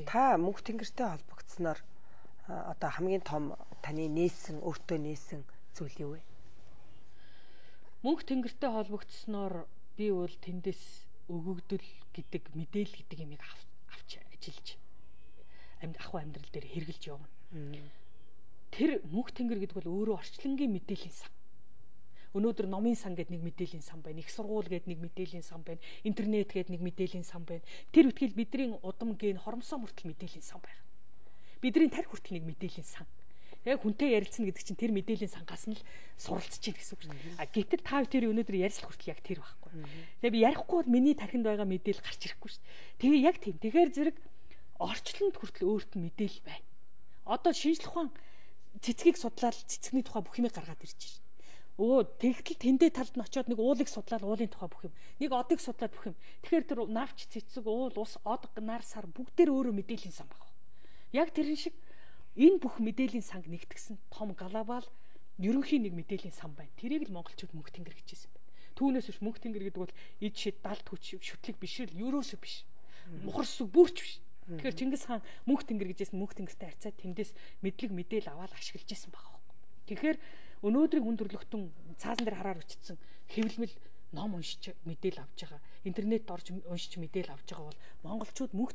Та мөнх тэнгэртэй холбогдсноор одоо хамгийн том таны нээсэн, өөртөө нээсэн зүйл юу вэ? Мөнх тэнгэртэй холбогдсноор би бол тэндээс өгөгдөл гэдэг мэдээлэл гэдэг юмыг авч ажиллаж амьд ахуй амьдрал дээр хэрэгжилж явна. Тэр мөнх тэнгэр гэдэг бол өөрөө орчлонгийн мэдээллийн сан. Өнөөдөр номын сан гэдэг нэг мэдээллийн сан байна. Их сургууль гэдэг нэг мэдээллийн сан байна. Интернет гэдэг нэг мэдээллийн сан байна. Тэр үтгэл бидний удам гээ хормсоо мөртөл мэдээллийн сан байна. Бидний тарих хүртэл нэг мэдээллийн сан. Яг хүнтэй ярилцна гэдэг чинь тэр мэдээллийн сангаас нь л суралцж чинь гэсэн үг шүү дээ. А гэтэл та тэр өнөөдөр ярилцлах хүртэл яг тэр байхгүй. Тэгээ би ярихгүй бол миний тархинд байгаа мэдээлэл гарч ирэхгүй шүү дээ. Тэгээ яг тийм. Тэгэхээр зэрэг орчлонд хүртэл өөрт нь мэдээлэл байна. Одоо шинжлэх ухаан цэцгийг судлаад цэцэгний тухай бүх юмыг гаргаад ирж байна. Өө тэгтэл тэндээ талд нь очиод нэг уулыг судлаад уулын тухай бүх юм. Нэг одыг судлаад бүх юм. Тэгэхээр тэр навч цэцэг, уул, ус, од, нар, сар бүгдээр өөрөө мэдээллийн сан баг. Яг тэрэн шиг энэ бүх мэдээллийн санг нэгтгсэн том глобал ерөнхий нэг мэдээллийн сан байна. Тэрийг л монголчууд мөнх тэнгэр гэж хэлсэн байна. Түүнээс биш мөнх тэнгэр гэдэг бол ид шид далд хүч шүтлэг биш л ерөөсөө биш. Мухарс үг бүрч биш. Тэгэхээр Чингис хаан мөнх тэнгэр гэжсэн мөнх тэнгэртэй харьцаад тэндээс мэдлэг мэдээл аваад ашиглаж исэн байгаа юм. Тэгэхээр өнөөдрийн хүн төрлөختөн цаасан дээр хараар өчтсөн хэвлэмэл ном уншиж мэдээл авч байгаа. Интернет орж уншиж мэдээл авч байгаа бол монголчууд мөнх